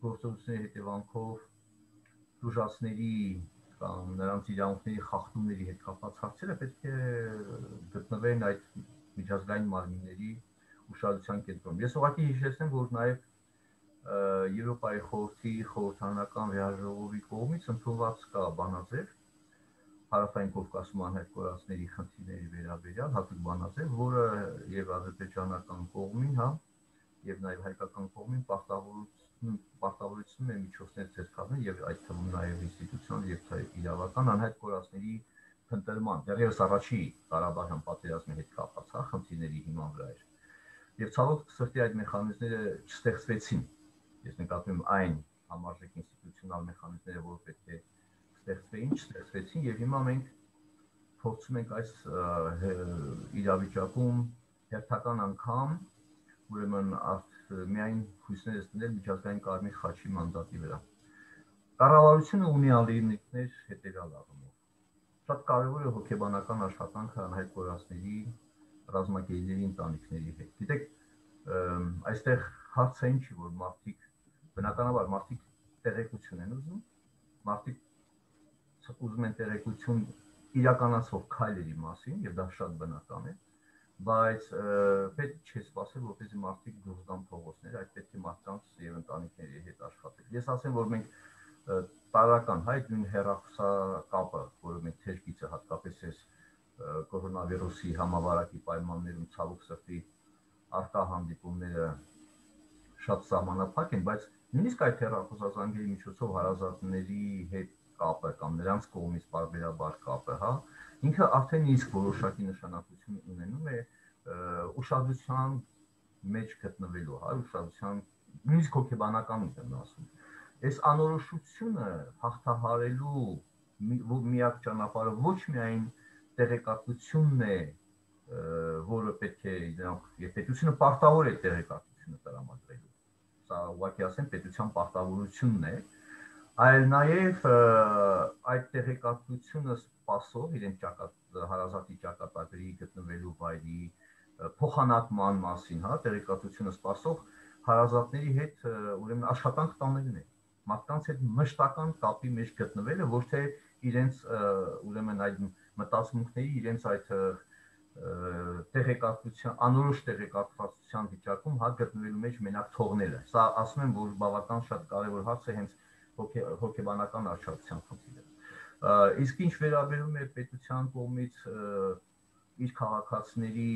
գործողությունների հետևանքով տուժածների կամ նրանց իրավունքների խախտումների հետ կապված հարցերը պետք է գտնվեն այդ միջազգային մարմինների ուշադրության կենտրոնում։ Ես ուղղակի հիշեցնեմ, որ նաև Եվրոպայի խորհրդի խորհրդարանական վեհաժողովի կողմից ընդունված կա բանաձև Հարավային Կովկասում անհայտ կորածների խնդիրների վերաբերյալ հատուկ բանաձև, որը եւ ադրբեջանական կողմին, հա, եւ նաեւ հայկական կողմին պարտավորություն պարտավորություն է միջոցներ ցերկալն եւ այդ թվում նաեւ ինստիտուցիոնալ եւ իրավական անհայտ կորածների փնտրման, դեռևս առաջի Ղարաբաղյան պատերազմի հետ կապված, հա, խնդիրների հիման վրա էր։ Եվ ցավոք սրտի այդ մեխանիզմները չստեղծվեցին։ Ես նկատում եմ այն համարժեք ինստիտուցիոնալ մեխանիզմները, որ պետք է ստեղծվեին, չստեղծվեցին եւ հիմա մենք փորձում ենք այս իրավիճակում հերթական անգամ ուրեմն միայն հույսներս դնել միջազգային Կարմիր խաչի մանդատի վրա։ Կառավարությունը ունի ալիքներ հետեւյալ առումով։ Շատ կարևոր է հոգեբանական աշխատանքը անհայտ կորածների ռազմագերիների ընտանիքների հետ։ Գիտեք, այստեղ հարցը ինչի, որ մարդիկ բնականաբար մարդիկ տեղեկություն են ուզում, մարդիկ ուզում են տեղեկություն իրականացվող քայլերի մասին եւ դա շատ բնական է, բայց պետք չէ սպասել, որպեսզի մարդիկ դուրս գան փողոցներ, այդ պետք է մարդկանց եւ ընտանիքների հետ աշխատել։ Ես ասեմ, որ մենք տարական հայ նույն հեռախոսակապը, որը մենք թեժ գիծը հատկապես էս կորոնավիրուսի համավարակի պայմաններում ցավոք սրտի արկա հանդիպումները շատ սահմանափակ են, բայց նույնիսկ այդ հեռախոսազանգերի միջոցով հարազատների հետ կապը կամ նրանց կողմից բարբերաբար կապը, հա, ինքը արդեն իսկ որոշակի նշանակություն ունենում է ուշադրության մեջ գտնվելու, հա, ուշադրության նույնիսկ հոգեբանական եմ ասում։ Այս անորոշությունը հաղթահարելու միակ ճանապարհը ոչ միայն տեղեկատվությունն է, որը պետք է դրանք, եւ պետությունը պարտավոր է տեղեկատվությունը տրամադրելու։ Սա ուղղակի ասեմ պետության պարտավորությունն է, այլ նաեւ այդ տեղեկատվությունը սպասող իրեն ճակատ հարազատի ճակատագրի գտնվելու վայրի փոխանակման մասին, հա, տեղեկատվությունը սպասող հարազատների հետ ուրեմն աշխատանք տանելն է, մարդկանց հետ մշտական կապի մեջ գտնվելը, ոչ թե իրենց ուրեմն այդ մտածմունքների, իրենց այդ տեղեկատվության, անորոշ տեղեկատվության վիճակում հա գտնվելու մեջ մենակ թողնելը։ Սա ասում եմ, որ բավական շատ կարևոր հարց է հենց հոգեբանական արժանացության խնդիրը։ Իսկ ինչ վերաբերում է պետության կողմից իր քաղաքացիների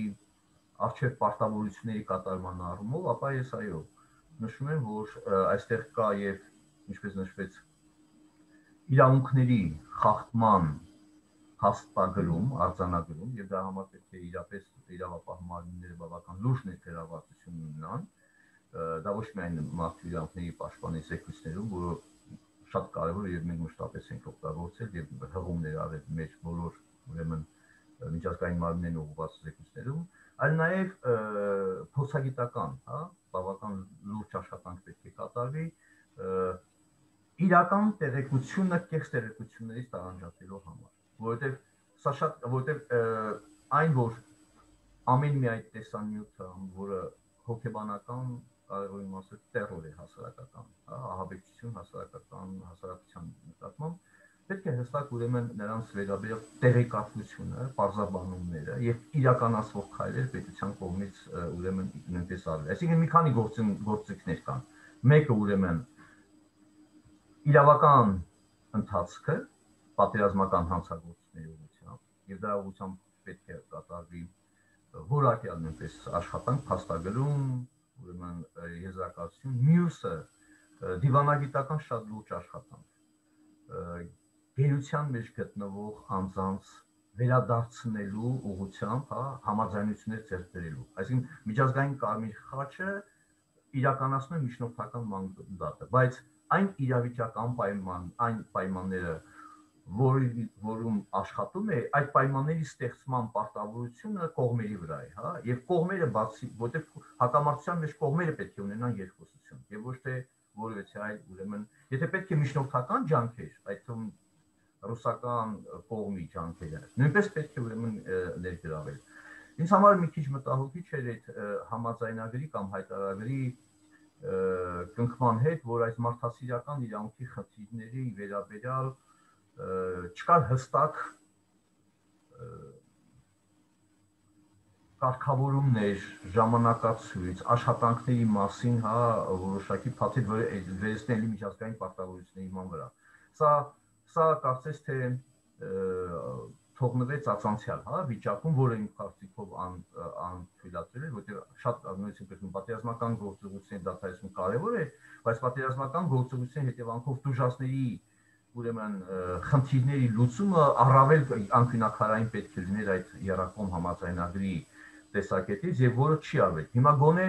արժեք պարտավորությունների կատարման առումով, ապա ես այո, նշում եմ, որ այստեղ կա եւ ինչպես նշվեց իրավունքների խախտման հաստատագրում, արձանագրում եւ դա համար պետք է իրապես իրավապահ մարմինները բավական լուրջ ներգրավվածություն ունենան, դա ոչ միայն մարդու իրավունքների պաշտպանի զեկույցներում, որը շատ կարևոր է եւ մենք մշտապես ենք օգտագործել եւ հղումներ արել մեր բոլոր ուրեմն միջազգային մարմիններն ուղղված զեկույցներում, այլ նաեւ փորձագիտական, հա, բավական լուրջ աշխատանք պետք է կատարվի իրական տեղեկությունը կեղծ տեղեկություններից տարանջատելու համար, որովհետեւ սա շատ, որովհետեւ այն որ ամեն մի այդ տեսանյութը, որը հոգեբանական կարևոր իմաստով տերոր է հասարակական, ահաբեկչություն հասարակական հասարակության նկատմամբ, պետք է հստակ ուրեմն նրանց վերաբերյալ տեղեկատվությունը, պարզաբանումները եւ իրականացվող քայլեր պետության կողմից ուրեմն նույնպես արվել։ Այսինքն մի քանի գործիքներ կան։ Մեկը ուրեմն իրավական ընթացքը, պատերազմական հանցագործությունների ուղղությամբ եւ դրա ուղղությամբ պետք է կատարվի որակյալ նույնպես աշխատանք, փաստագրում, ուրեմն եզրակացություն, մյուսը դիվանագիտական շատ լուրջ աշխատանք գերության մեջ գտնվող անձանց վերադարձնելու ուղղությամբ, հա, համաձայնություններ ձեռք բերելու։ Այսինքն միջազգային կարմիր խաչը իրականացնում է միջնորդական մանդատը, բայց այն իրավիճակ անպայման, այն պայմանները, որում աշխատում է, այդ պայմանների ստեղծման պարտավորությունը կողմերի վրա է, հա, եւ կողմերը բացի, որտեղ հակամարտության մեջ կողմերը պետք է ունենան երկխոսություն, եւ ոչ թե որևէ այլ ուրեմն, եթե պետք է միջնորդական ջանքեր, այդ թվում ռուսական կողմի ջանքերը, նույնպես պետք է ուրեմն ներգրավել։ Ինձ համար մի քիչ մտահոգիչ էր այդ համաձայնագրի կամ հայտարարագրի կնքման հետ, որ այս մարդասիրական իրավունքի խնդիրների վերաբերյալ չկար հստակ կարգավորումներ, ժամանակացույց, աշխատանքների մասին, հա, որոշակի փաթեթ վերցնելի միջազգային պարտավորությունների ման վրա։ Սա Սա կարծես թե թողնվեց ածանցյալ, հա, վիճակում, որը իմ կարծիքով անթույլատրել է, որտեղ շատ նույնիսկ պատերազմական գործողությունների դադարեցումը կարևոր է, բայց պատերազմական գործողությունների հետևանքով տուժածների ուրեմն խնդիրների լուծումը առավել անկյունաքարային պետք է լիներ այդ երակոմ համաձայնագրի տեսակետից եւ որը չի արվել։ Հիմա գոնե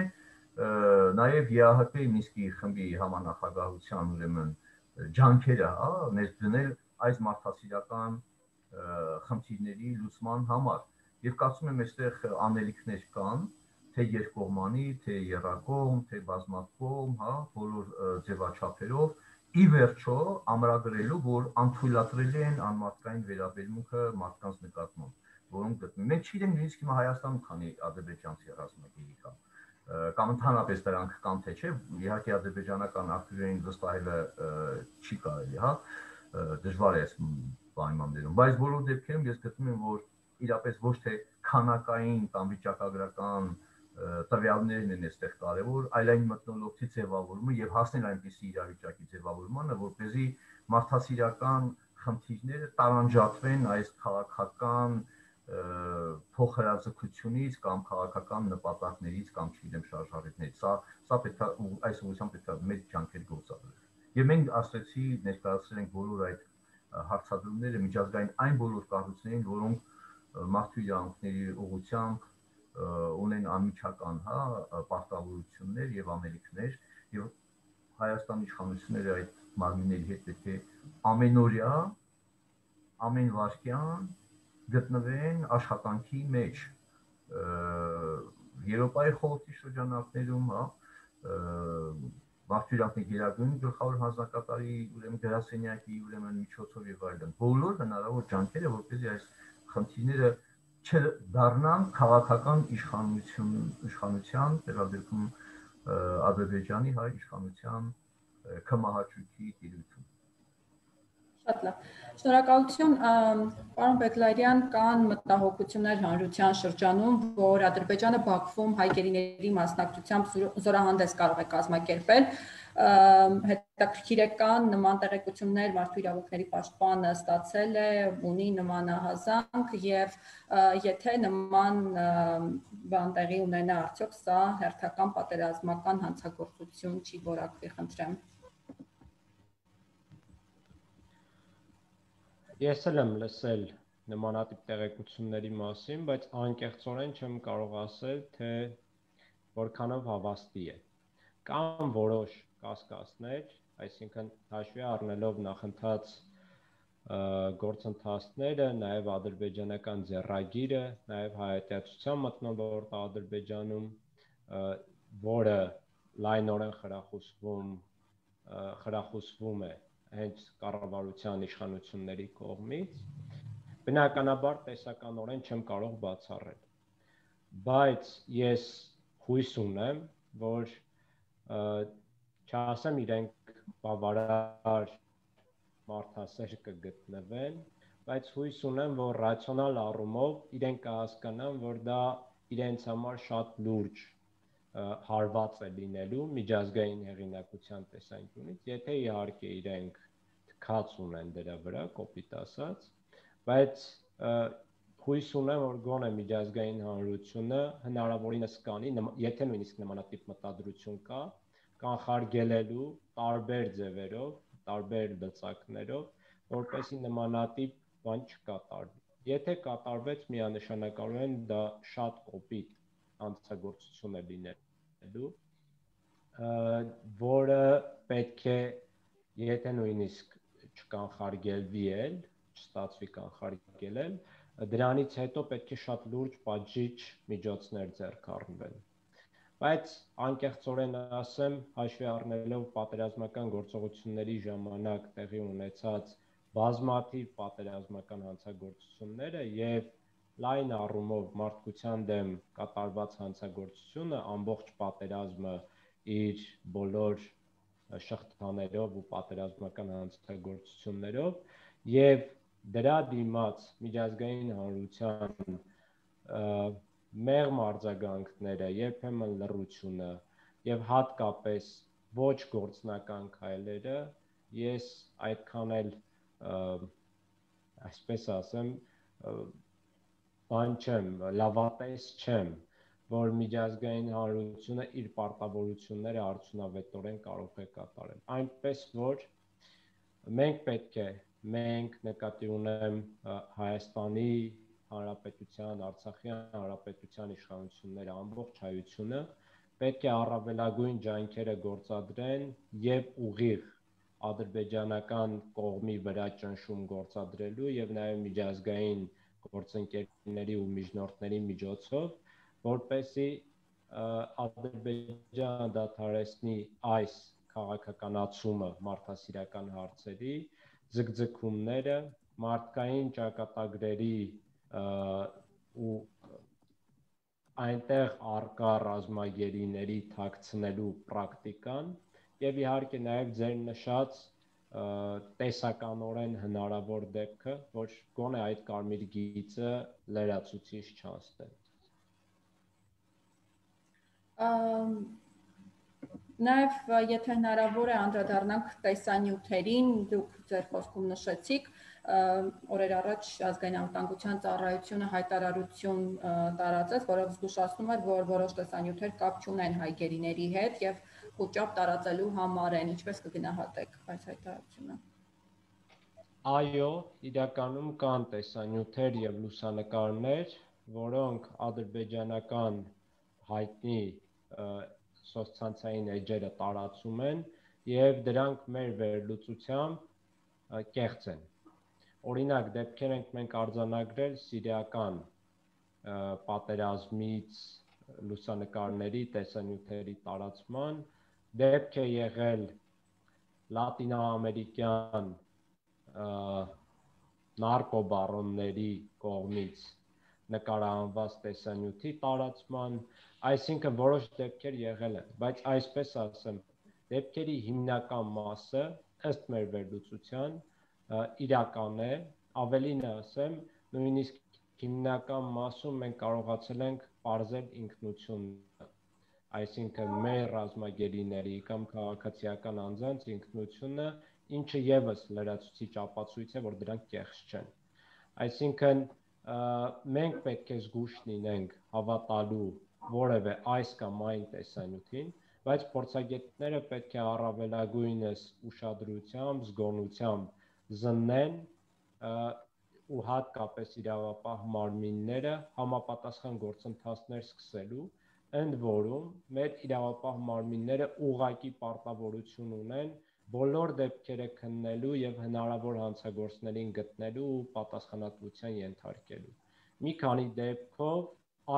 նաեւ ԵԱՀԿ Մինսկի խմբի համանախագահության ուրեմն ջանքերը, հա, ներդնել այս մարդասիրական խնդիրների լուծման համար եւ կարծում եմ այստեղ անելիքներ կան, թե երկկողմանի, թե եռակողմ, թե բազմակողմ, հա, բոլոր ձևաչափերով ի վերջո ամրագրելու, որ անթույլատրելի են անմարդկային վերաբերմունքը մարդկանց նկատմամբ, որոնք գտնվում են։ Մենք չգիտենք նույնիսկ հիմա Հայաստանում քանի ադրբեջանցի ռազմագերի կա, կամ ընդհանրապես դրանք կան թե չէ, իհարկե ադրբեջանական ակտիվներին վստահելը չի կարելի, հա, դժվար է այս պայմաններում, բայց բոլոր դեպքերում ես գտնում եմ, որ իրապես ոչ թե քանակային կամ վիճակագրական տվյալներն են այստեղ կարևոր, այլ այն մթնոլորտի ձևավորումը եւ հասնել այնպիսի իրավիճակի ձևավորմանը, որպեսզի մարդասիրական խնդիրները տարանջատվեն այս քաղաքական փոխհրաձգությունից կամ քաղաքական նպատակներից կամ չգիտեմ շարժառիթներից։ Սա սա պետք է այս ուղղությամբ պետք է մեծ ջանքեր գործադրել։ Եվ մենք ասացի ներկայացրել ենք բոլոր այդ հարցադրումները միջազգային այն բոլոր կառույցներին, որոնք մարդու իրավունքների ուղղությամբ ունեն անմիջական, հա, պարտավորություններ եւ անելիքներ եւ Հայաստանի իշխանությունները այդ մարմինների հետ պետք է ամենօրյա ամեն վարքյան գտնվեն աշխատանքի մեջ։ Եվրոպայի խորհրդի շրջանակներում, հա, Բարձրյակի գերագույն գլխավոր հանձնակատարի ուրեմն գրասենյակի ուրեմն միջոցով եւ այլն բոլոր հնարավոր ջանքերը որպեսզի այս խնդիրները չդառնան քաղաքական իշխանություն իշխանության վերաբերում Ադրբեջանի հայ իշխանության կմահաճույքի տիրույթում։ Շատ լավ։ Շնորհակալություն, պարոն Բեգլարյան, կան մտահոգություններ հանրության շրջանում, որ Ադրբեջանը Բաքվում հայ գերիների մասնակցությամբ զորահանդես կարող է կազմակերպել։ Հետաքրքիր է կան նման տեղեկություններ, մարդու իրավունքների պաշտպանը ստացել է, ունի նման ահազանգ եւ եթե նման բան տեղի ունենա, արդյոք սա հերթական պատերազմական հանցագործություն չի որակվի, խնդրեմ։ Ես էլ եմ լսել նմանատիպ տեղեկությունների մասին, բայց անկեղծորեն չեմ կարող ասել, թե որքանով հավաստի է։ Կան որոշ կասկածներ, այսինքն հաշվի առնելով նախընթաց գործընթացները, նաև ադրբեջանական ձեռագիրը, նաև հայատյացության մթնոլորտը Ադրբեջանում, որը լայնորեն խրախուսվում խրախուսվում է հենց կառավարության իշխանությունների կողմից, բնականաբար տեսականորեն չեմ կարող բացառել, բայց ես հույս ունեմ, որ չասեմ իրենք բավարար մարդասեր կգտնվեն, բայց հույս ունեմ, որ ռացիոնալ առումով իրենք կհասկանան, որ դա իրենց համար շատ լուրջ հարված է լինելու միջազգային հեղինակության տեսանկյունից, եթե իհարկե իրենք թքած ունեն դրա վրա, կոպիտ ասած, բայց հույս ունեմ, որ գոնե միջազգային հանրությունը հնարավորինս կանի, եթե նույնիսկ նմանատիպ մտադրություն կա, կանխարգելելու տարբեր ձևերով, տարբեր լծակներով, որպեսզի նմանատիպ բան չկատարվի։ Եթե կատարվեց, միանշանակորեն դա շատ կոպիտ հանցագործություն է լինելու, որը պետք է, եթե նույնիսկ չկանխարգելվի էլ, չստացվի կանխարգելել, դրանից հետո պետք է շատ լուրջ պատժիչ միջոցներ ձեռք առնվեն։ Բայց անկեղծորեն ասեմ, հաշվի առնելով պատերազմական գործողությունների ժամանակ տեղի ունեցած բազմաթիվ պատերազմական հանցագործությունները եւ լայն առումով մարդկության դեմ կատարված հանցագործությունը, ամբողջ պատերազմը իր բոլոր շղթաներով ու պատերազմական հանցագործություններով եւ դրա դիմաց միջազգային հանրության մեղմ արձագանքները, երբեմն լռությունը եւ հատկապես ոչ գործնական քայլերը, ես այդքան էլ այսպես ասեմ, բան չեմ, լավատես չեմ, որ միջազգային հանրությունը իր պարտավորությունները արդյունավետորեն կարող է կատարել։ Այնպես որ մենք պետք է, մենք նկատի ունեմ Հայաստանի Հանրապետության, Արցախի Հանրապետության իշխանությունները, ամբողջ հայությունը պետք է առավելագույն ջանքերը գործադրեն եւ ուղիղ ադրբեջանական կողմի վրա ճնշում գործադրելու եւ նաեւ միջազգային գործընկերների ու միջնորդների միջոցով, որպեսզի Ադրբեջանը դադարեցնի այս քաղաքականացումը մարդասիրական հարցերի, ձգձգումները, մարդկային ճակատագրերի ու այնտեղ առկա ռազմագերիների թաքցնելու պրակտիկան եւ իհարկե նաեւ ձեր նշած տեսականորեն հնարավոր դեպքը, որ գոնե այդ կարմիր գիծը լրացուցիչ չանցնեն։ Նաև եթե հնարավոր է անդրադառնանք տեսանյութերին, դուք ձեր խոսքում նշեցիք, օրեր առաջ ազգային անվտանգության ծառայությունը հայտարարություն տարածեց, որով զգուշացնում էր, որ որոշ տեսանյութեր կապ չունեն հայ գերիների հետ եւ խոճապ տարածելու համար են, ինչպես կգնահատեք այս հայտարարությունը։ Այո, իրականում կան տեսանյութեր եւ լուսանկարներ, որոնք ադրբեջանական հայտնի սոցցանցային էջերը տարածում են եւ դրանք մեր վերլուծությամբ կեղծ են, Օրինակ, դեպքեր ենք մենք արձանագրել սիրիական պատերազմից լուսանկարների, տեսանյութերի տարածման, դեպք է եղել լատինոամերիկյան նարկոբարոնների կողմից նկարահանված տեսանյութի տարածման, այսինքն որոշ դեպքեր եղել են, բայց այսպես ասեմ, դեպքերի հիմնական մասը ըստ մեր վերլուծության իրական է, ավելին ասեմ, նույնիսկ հիմնական մասում մենք կարողացել ենք պարզել ինքնությունը, այսինքն մեր ռազմագերիների կամ քաղաքացիական անձանց ինքնությունը, ինչը ևս լրացուցիչ ապացույց է, որ դրանք կեղծ չեն։ Այսինքն մենք պետք է զգույշ լինենք հավատալու որևէ այս կամ այն տեսանյութին, բայց փորձագետները պետք է առավելագույնս ուշադրությամբ, զգոնությամբ զննեն ու հատկապես իրավապահ մարմինները համապատասխան գործընթացներ սկսելու, ընդ որում մեր իրավապահ մարմինները ուղղակի պարտավորություն ունեն բոլոր դեպքերը քննելու եւ հնարավոր հանցագործներին գտնելու ու պատասխանատվության ենթարկելու։ Մի քանի դեպքով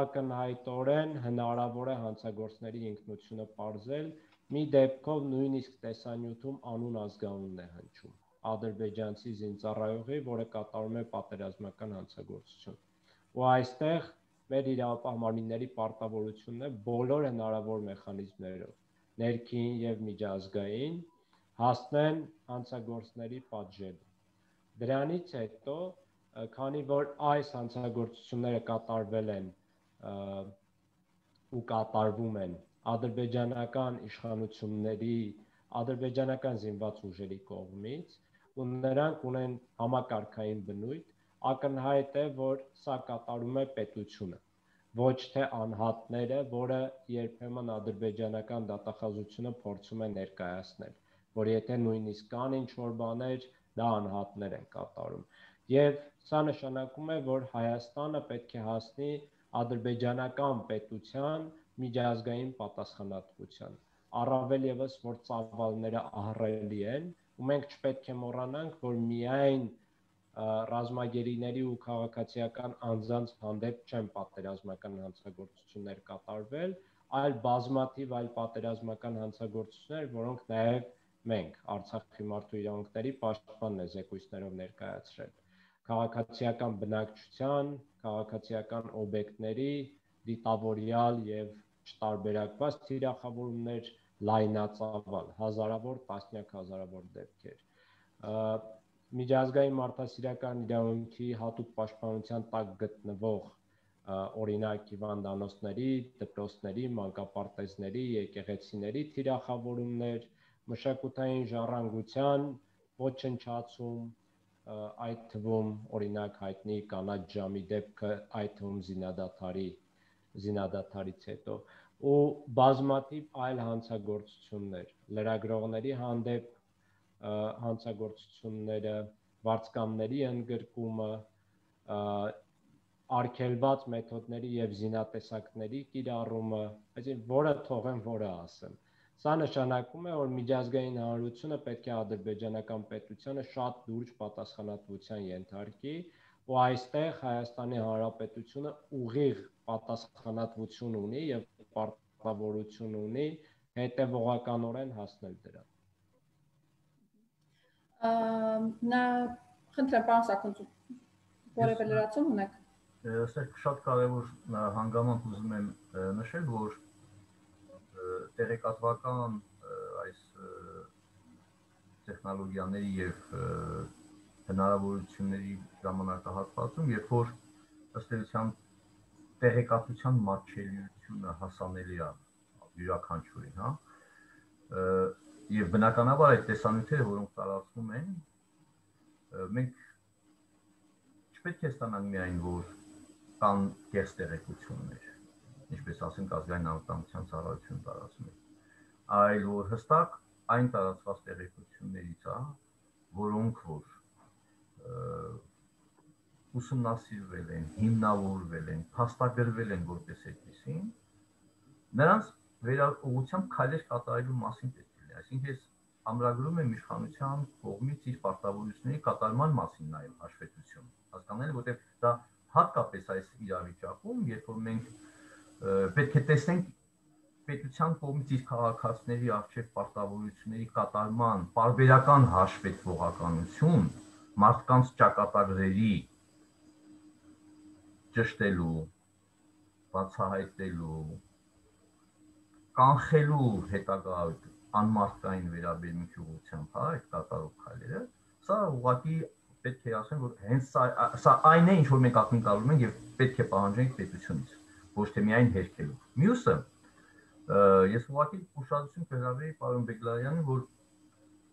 ակնհայտորեն հնարավոր է հանցագործների ինքնությունը պարզել, մի դեպքով նույնիսկ տեսանյութում անուն ազգանունն է հնչում ադրբեջանցի զինծառայողի, որը կատարում է պատերազմական հանցագործություն։ Ու այստեղ մեր իրավապահ մարմինների պարտավորությունն է բոլոր հնարավոր մեխանիզմներով, ներքին եւ միջազգային, հասնեն հանցագործների պատժելու։ Դրանից հետո, քանի որ այս հանցագործությունները կատարվել են ու կատարվում են ադրբեջանական իշխանությունների, ադրբեջանական զինված ուժերի կողմից, ու նրանք ունեն համակարգային բնույթ, ակնհայտ է, որ սա կատարում է պետությունը, ոչ թե անհատները, որը երբեմն ադրբեջանական դատախազությունը փորձում է ներկայացնել, որ եթե նույնիսկ կան ինչ-որ բաներ, դա անհատներ են կատարում։ Եվ սա նշանակում է, որ Հայաստանը պետք է հասնի ադրբեջանական պետության միջազգային պատասխանատվության, առավել ևս, որ ծավալները ահռելի են, ու մենք չպետք է մոռանանք, որ միայն ռազմագերիների ու քաղաքացիական անձանց հանդեպ չեն պատերազմական հանցագործություններ կատարվել, այլ բազմաթիվ այլ պատերազմական հանցագործություններ, որոնք նաև մենք Արցախի մարդու իրավունքների պաշտպանն է զեկույցներով ներկայացրել։ Քաղաքացիական բնակչության, քաղաքացիական օբյեկտների դիտավորյալ եւ չտարբերակված թիրախավորումներ, լայնածավալ, հազարավոր, տասնյակ հազարավոր դեպքեր։ Միջազգային մարդասիրական իրավունքի հատուկ պաշտպանության տակ գտնվող օրինակ հիվանդանոցների, դպրոցների, մանկապարտեզների, եկեղեցիների թիրախավորումներ, մշակութային ժառանգության ոչնչացում, այդ թվում օրինակ հայտնի կանաչ ժամի դեպքը, այդ թվում զինադադարի զինադադարից հետո, ու բազմաթիվ այլ հանցագործություններ, լրագրողների հանդեպ հանցագործությունները, վարձկանների ընդգրկումը, արգելված մեթոդների եւ զինատեսակների կիրառումը, այսինքն որը թողեմ, որը ասեմ։ Սա նշանակում է, որ միջազգային հանրությունը պետք է ադրբեջանական պետությանը շատ լուրջ պատասխանատվության ենթարկի, ու այստեղ Հայաստանի Հանրապետությունը ուղիղ պատասխանատվություն ունի եւ պարտավորություն ունի հետեւողականորեն հասնել դրան։ Նա խնդրեմ, պարոն Սաքունցու, որևէ լրացում ունեք։ Սա շատ կարևոր հանգամանք ուզում եմ նշել, որ տեղեկատվական այս տեխնոլոգիաների եւ հնարավորությունների ժամանակահատվածում, երբ որ ըստ էության տեղեկատվության մատչելիությունը հասանելի է յուրաքանչյուրին, հա, եւ բնականաբար այդ տեսանյութերը, որոնք տարածվում են, մենք չպետք է ստանանք միայն, որ կան կեղծ տեղեկություններ, ինչպես ասենք ազգային անվտանգության ծառայություն տարածում է, այլ որ հստակ այն տարածված տեղեկություններից է, որոնք որ ուսումնասիրվել են, հիմնավորվել են, փաստագրվել են որպես այդպիսին, նրանց վերահսկողությամբ քայլեր կատարելու մասին պետք է լինի, այսինքն ես ամրագրում է իշխանության կողմից իր պարտավորությունների կատարման մասին նաև հաշվետվություն։ Հասկանալի, որտեղ դա հատկապես այս իրավիճակում, երբ որ մենք պետք է տեսնենք պետության կողմից իր քաղաքացիների առջև պարտավորությունների կատարման պարբերական հաշվետվողականություն, մարդկանց ճակատագրերի ճշտելու, բացահայտելու, կանխելու հետագա անմարդկային վերաբերմունքի ուղղությամբ, հա, այդ կատարող քայլերը, սա ուղղակի պետք է ասեմ, որ հենց սա այն է, ինչ որ մենք ակնկալում ենք եւ պետք է պահանջենք պետությունից, ոչ թե միայն հերքելով։ Մյուսը, ես ուղղակի ուշադրություն կհրավիրեի պարոն Բեգլարյանին, որ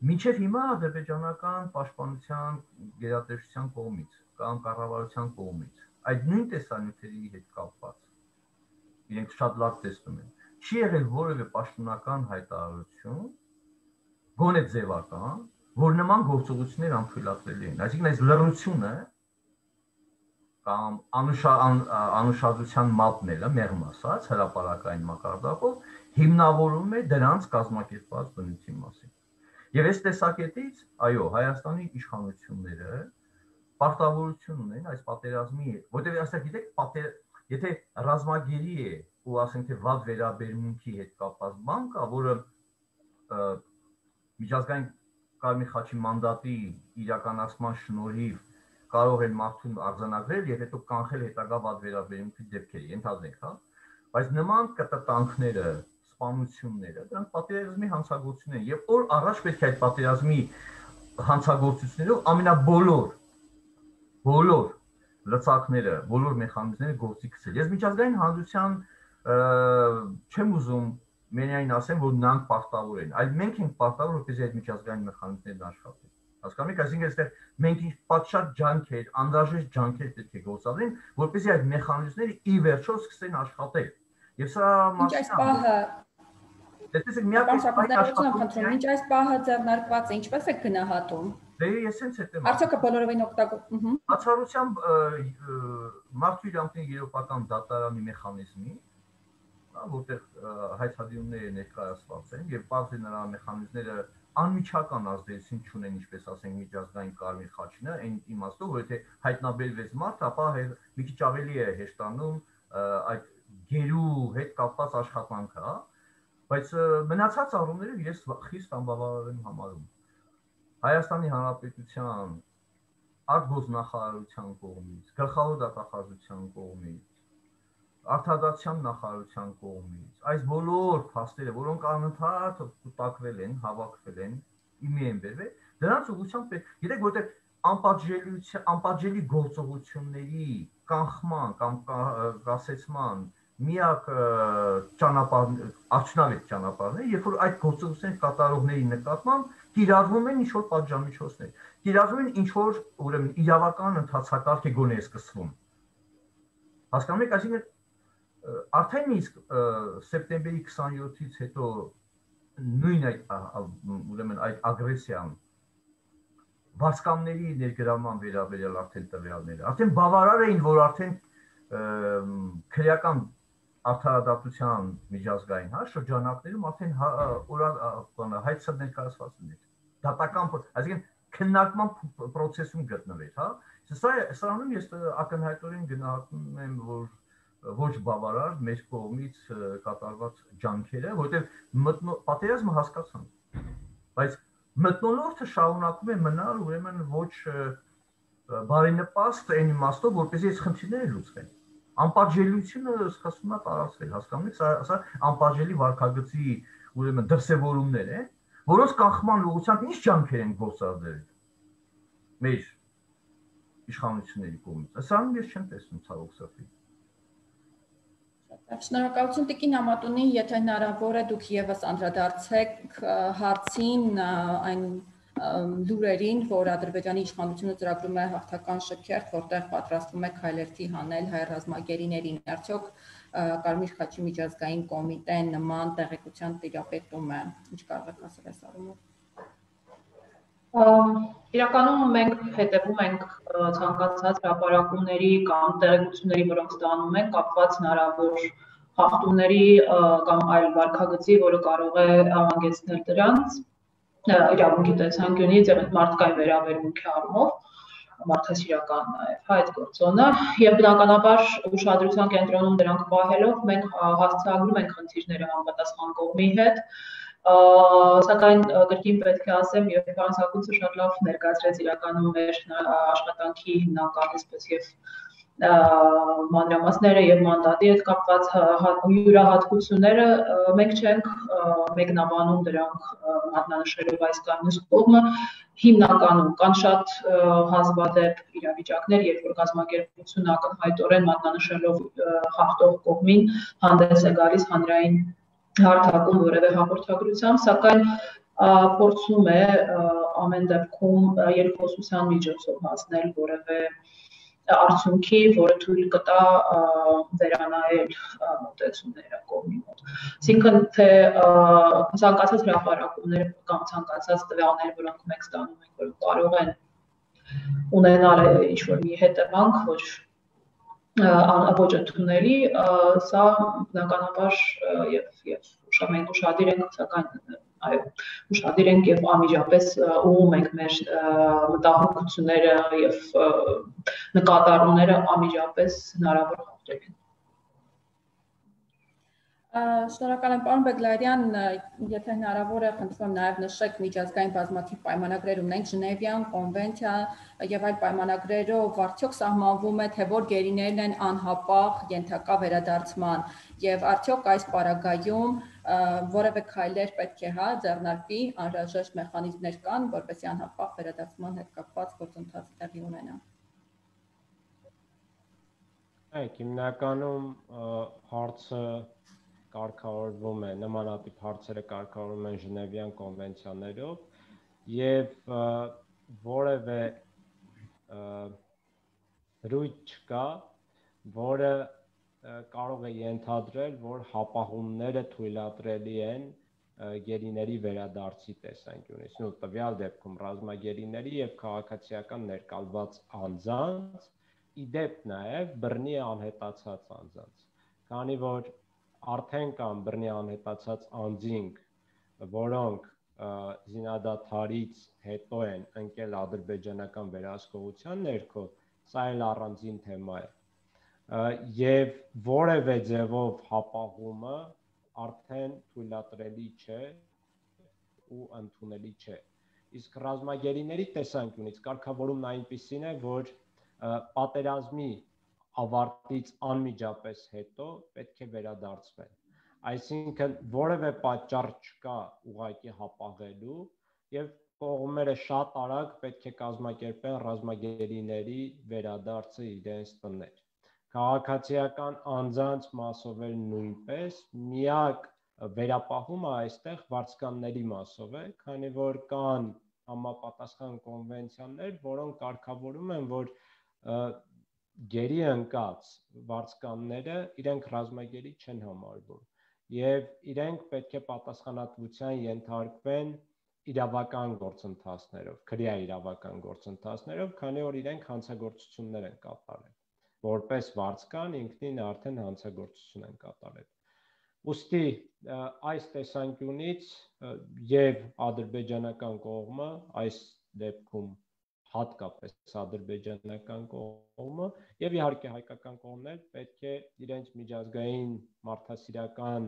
մինչև հիմա ադրբեջանական պաշտպանության գերատեսչության կողմից կամ կառավարության կողմից այդ նույն տեսանյութերի հետ կապված իրենք շատ լավ տեսնում են, չի եղել որևէ պաշտոնական հայտարարություն, գոնե ձևական, որ նման գործողություններ անթույլատրելի են։ Այսինքն այս լռությունը կամ անուշադրության մատնելը, մեղմ ասած, հրապարակային մակարդակով հիմնավորում է դրանց կազմակերպված բնույթի մասին։ Եվ այս տեսակետից, այո, Հայաստանի իշխանությունները պարտավորություն ունեն այս պատերազմի, որտեղ ասա գիտեք, եթե ռազմագերի է ու ասենք թե վատ վերաբերմունքի հետ կապված բան կա, որը միջազգային Կարմիր խաչի մանդատի իրականացման շնորհիվ կարող են մարդուն արձանագրել եւ հետո կանխել հետագա վատ վերաբերմունքի դեպքերը, ենթադրենք, հա, բայց նման կտտանքները, սպանությունները, դրանք պատերազմի հանցագործություններ են եւ օր առաջ պետք է այդ պատերազմի հանցագործություններով ամենաբոլոր բոլոր լծակները, բոլոր մեխանիզմները գործի գցել։ Ես միջազգային հանրության չեմ ուզում միայն ասեմ, որ նրանք պարտավոր են, այլ մենք ենք պարտավոր, որպեսզի այդ միջազգային մեխանիզմներն աշխատեն։ Հասկանում եք, այսինքն այստեղ մենք ինչ պատշաճ ջանքեր, անհրաժեշտ ջանքեր պետք է գործադրեն, որպեսզի այդ մեխանիզմները ի վերջո սկսեն աշխատել։ Եվ սա Տեսեք, միակ ինչ այս պահը ձեռնարկված է, ինչպես է գնահատում։ Դե ես հենց հետ եմ։ Արդյոք բոլորովին օգտագործում։ Բացառությամբ մարդու իրավունքների երեւական դատարանի մեխանիզմի, որտեղ հայտարարությունները ներկայացված են եւ բացի նրա մեխանիզմները անմիջական ազդեցություն չունեն, ինչպես ասենք միջազգային Կարմիր խաչինը, այն իմաստով, որ եթե հայտնաբերվեց մարդ, ապա մի քիչ ավելի է հեշտանում այդ գերու հետ կապված աշխատանքը, հա, բայց մնացած առումներով ես խիստ անբավարար եմ համարում։ Հայաստանի Հանրապետության արտգործնախարարության կողմից, գլխավոր դատախազության կողմից, արտադրության նախարարության կողմից, այս բոլոր փաստերը, որոնք անընդհատ կուտակվել են, հավաքվել են, իմի են բերվել, դրանց ուղղությամբ պետք, գիտեք, որտեղ անպատժելիության, անպատժելի գործողությունների կանխման կամ կասեցման միակ ճանապարհ, արդյունավետ ճանապարհն է, երբ որ այդ գործողությունների կատարողների նկատմամբ կիրառվում են ինչ-որ պատժամիջոցներ, կիրառվում են ինչ-որ, ուրեմն, իրավական ընթացակարգ է գոնե սկսվում։ Հասկանում եք, այսինքն արդեն իսկ սեպտեմբերի քսաներորդ-ից հետո նույն այդ, ուրեմն, այդ ագրեսիան վարձկանների ներգրավման վերաբերյալ արդեն տվյալները, արդեն բավարար էին, որ արդեն քրեական արդարադատության միջազգային, հա, շրջանակներում արդեն հայցը ներկայացված ուներ։ Դատական, այսինքն քննարկման process-ում գտնվեր, հա։ Սա սրանում ես ակնհայտորեն գնահատում եմ, որ ոչ բավարար մեր կողմից կատարված ջանքերը, որովհետև պատերազմը հասկացանք, բայց մթնոլորտը շարունակում է մնալ ուրեմն ոչ բարենպաստ այն իմաստով, որպեսզի այս խնդիրները լուծվեն։ Անպատժելիությունը սկսում է տարածվել, հասկանում եք, սա անպատժելի վարքագծի ուրեմն դրսևորումներ են, որոնց կանխման ուղղությամբ ինչ ջանքեր են գործադրել մեր իշխանությունների կողմից։ Սրանում ես չեմ տեսնում ցավոք սրտի։ Շնորհակալություն Տիկին Ամատունի, եթե հնարավոր է դուք եւս անդրադարձեք հարցին այն լուրերին, որ Ադրբեջանի իշխանությունը ծրագրում է հաղթական շքերթ, որտեղ պատրաստվում է քայլերթի հանել հայ ռազմագերիներին։ Արդյոք Կարմիր խաչի միջազգային կոմիտեն նման տեղեկության տիրապետում է, ինչ կարող եք ասել այս առումով։ Իրականում մենք հետևում ենք ցանկացած հրապարակումների կամ տեղեկությունների, որոնք ստանում են կապված հնարավոր խախտումների կամ այլ վարքագծի, որը կարող է հանգեցնել դրանց։ իրավունքի տեսանկյունից եւ մարդկային վերաբերմունքի առումով մարդասիրական նաև այդ գործոնը եւ բնականաբար ուշադրության կենտրոնում դրանք պահելով մենք հասցեագրում ենք խնդիրները համապատասխան կողմի հետ սակայն գրքին պետք է ասեմ եւ ֆրանսակուցը շատ լավ ներկայացրեց իրականում մեր աշխատանքի հիմնական այսպես եւ մանրամասները եւ մանդատի հետ կապված յուրահատկությունները մենք չենք մեկնաբանում դրանք մատնանշելով այս կամ մյուս կողմը հիմնականում կան շատ հազվադեպ իրավիճակներ, երբ որ կազմակերպությունը ակնհայտորեն մատնանշելով հաղթող կողմին հանդես է գալիս հանրային հարթակում որևէ հաղորդագրությամբ, սակայն փորձում է ամեն դեպքում երկխոսության միջոցով հասնել որևէ արդյունքի, որը թույլ կտա վերանայել մոտեցումները կողմի մոտ։ Այսինքն թե ցանկացած հրապարակումներ կամ ցանկացած տվյալներ, որոնք մենք ստանում ենք, որ կարող են ունենալ ինչ-որ մի հետևանք, ոչ ոչ ընդունելի, սա բնականաբար եւ եւ մենք ուշադիր ենք, սակայն այո, ուշադիր ենք եւ անմիջապես ուղղում ենք մեր մտահոգությունները եւ նկատառումները անմիջապես հնարավոր հաղթողին։ Շնորհակալ եմ պարոն Բեգլարյան, եթե հնարավոր է, խնդրում եմ նաև նշեք միջազգային բազմաթիվ պայմանագրեր ունենք, Ժնևյան կոնվենցիա եւ այլ պայմանագրերով արդյոք սահմանվում է, թե որ գերիներն են անհապաղ ենթակա վերադարձման եւ արդյոք այս պարագայում որևէ քայլեր պետք է հա ձեռնարկվի, անհրաժեշտ մեխանիզմներ կան, որպեսզի անհապաղ վերադարձման հետ կապված գործընթաց տեղի ունենա։ Այո, հիմնականում հարցը կարգավորվում է, նմանատիպ հարցերը կարգավորվում են Ժնևյան կոնվենցիաներով եւ որևէ ռույթ չկա, որը կարող է ենթադրել, որ հապաղումները թույլատրելի են գերիների վերադարձի տեսանկյունից, ու տվյալ դեպքում ռազմագերիների եւ քաղաքացիական ներկալված անձանց, իդեպ նաեւ բռնի անհետացած անձանց, քանի որ արդեն կան բռնի անհետացած անձինք, որոնք զինադադարից հետո են ընկել ադրբեջանական վերահսկողության ներքո, սա էլ առանձին թեմա է։ Եվ որևէ ձևով հապաղումը արդեն թույլատրելի չէ ու ընդունելի չէ։ Իսկ ռազմագերիների տեսանկյունից կարգավորումն այնպիսին է, որ պատերազմի ավարտից անմիջապես հետո պետք է վերադարձվեն։ Այսինքն որևէ պատճառ չկա ուղղակի հապաղելու եւ կողմերը շատ արագ պետք է կազմակերպեն ռազմագերիների վերադարձը իրենց տներ։ Քաղաքացիական անձանց մասով էլ նույնպես միակ վերապահումը այստեղ վարձկանների մասով է, քանի որ կան համապատասխան կոնվենցիաներ, որոնք կարգավորում են, որ գերի ընկած վարձկանները իրենք ռազմագերի չեն համարվում եւ իրենք պետք է պատասխանատվության ենթարկվեն իրավական գործընթացներով, քրեա իրավական գործընթացներով, քանի որ իրենք հանցագործություններ են կատարել, որպես վարձկան ինքնին արդեն հանցագործություն են կատարել։ Ուստի այս տեսանկյունից եւ ադրբեջանական կողմը, այս դեպքում հատկապես ադրբեջանական կողմը եւ իհարկե հայկական կողմն էլ պետք է իրենց միջազգային մարդասիրական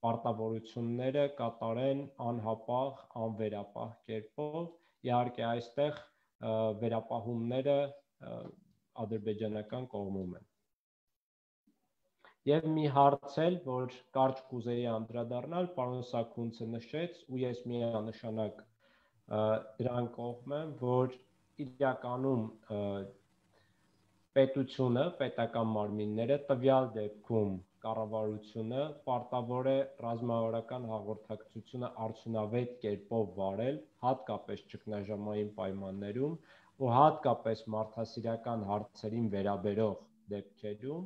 պարտավորությունները կատարեն անհապաղ, անվերապահ կերպով։ Իհարկե այստեղ վերապահումները ադրբեջանական կողմում են։ Եվ մի հարց էլ, որ կարճ կուզեի անդրադառնալ, պարոն Սաքունցը նշեց, ու ես միանշանակ դրան կողմ եմ, որ իրականում պետությունը, պետական մարմինները, տվյալ դեպքում կառավարությունը պարտավոր է ռազմավարական հաղորդակցությունը արդյունավետ կերպով վարել, հատկապես ճգնաժամային պայմաններում ու հատկապես մարդասիրական հարցերին վերաբերող դեպքերում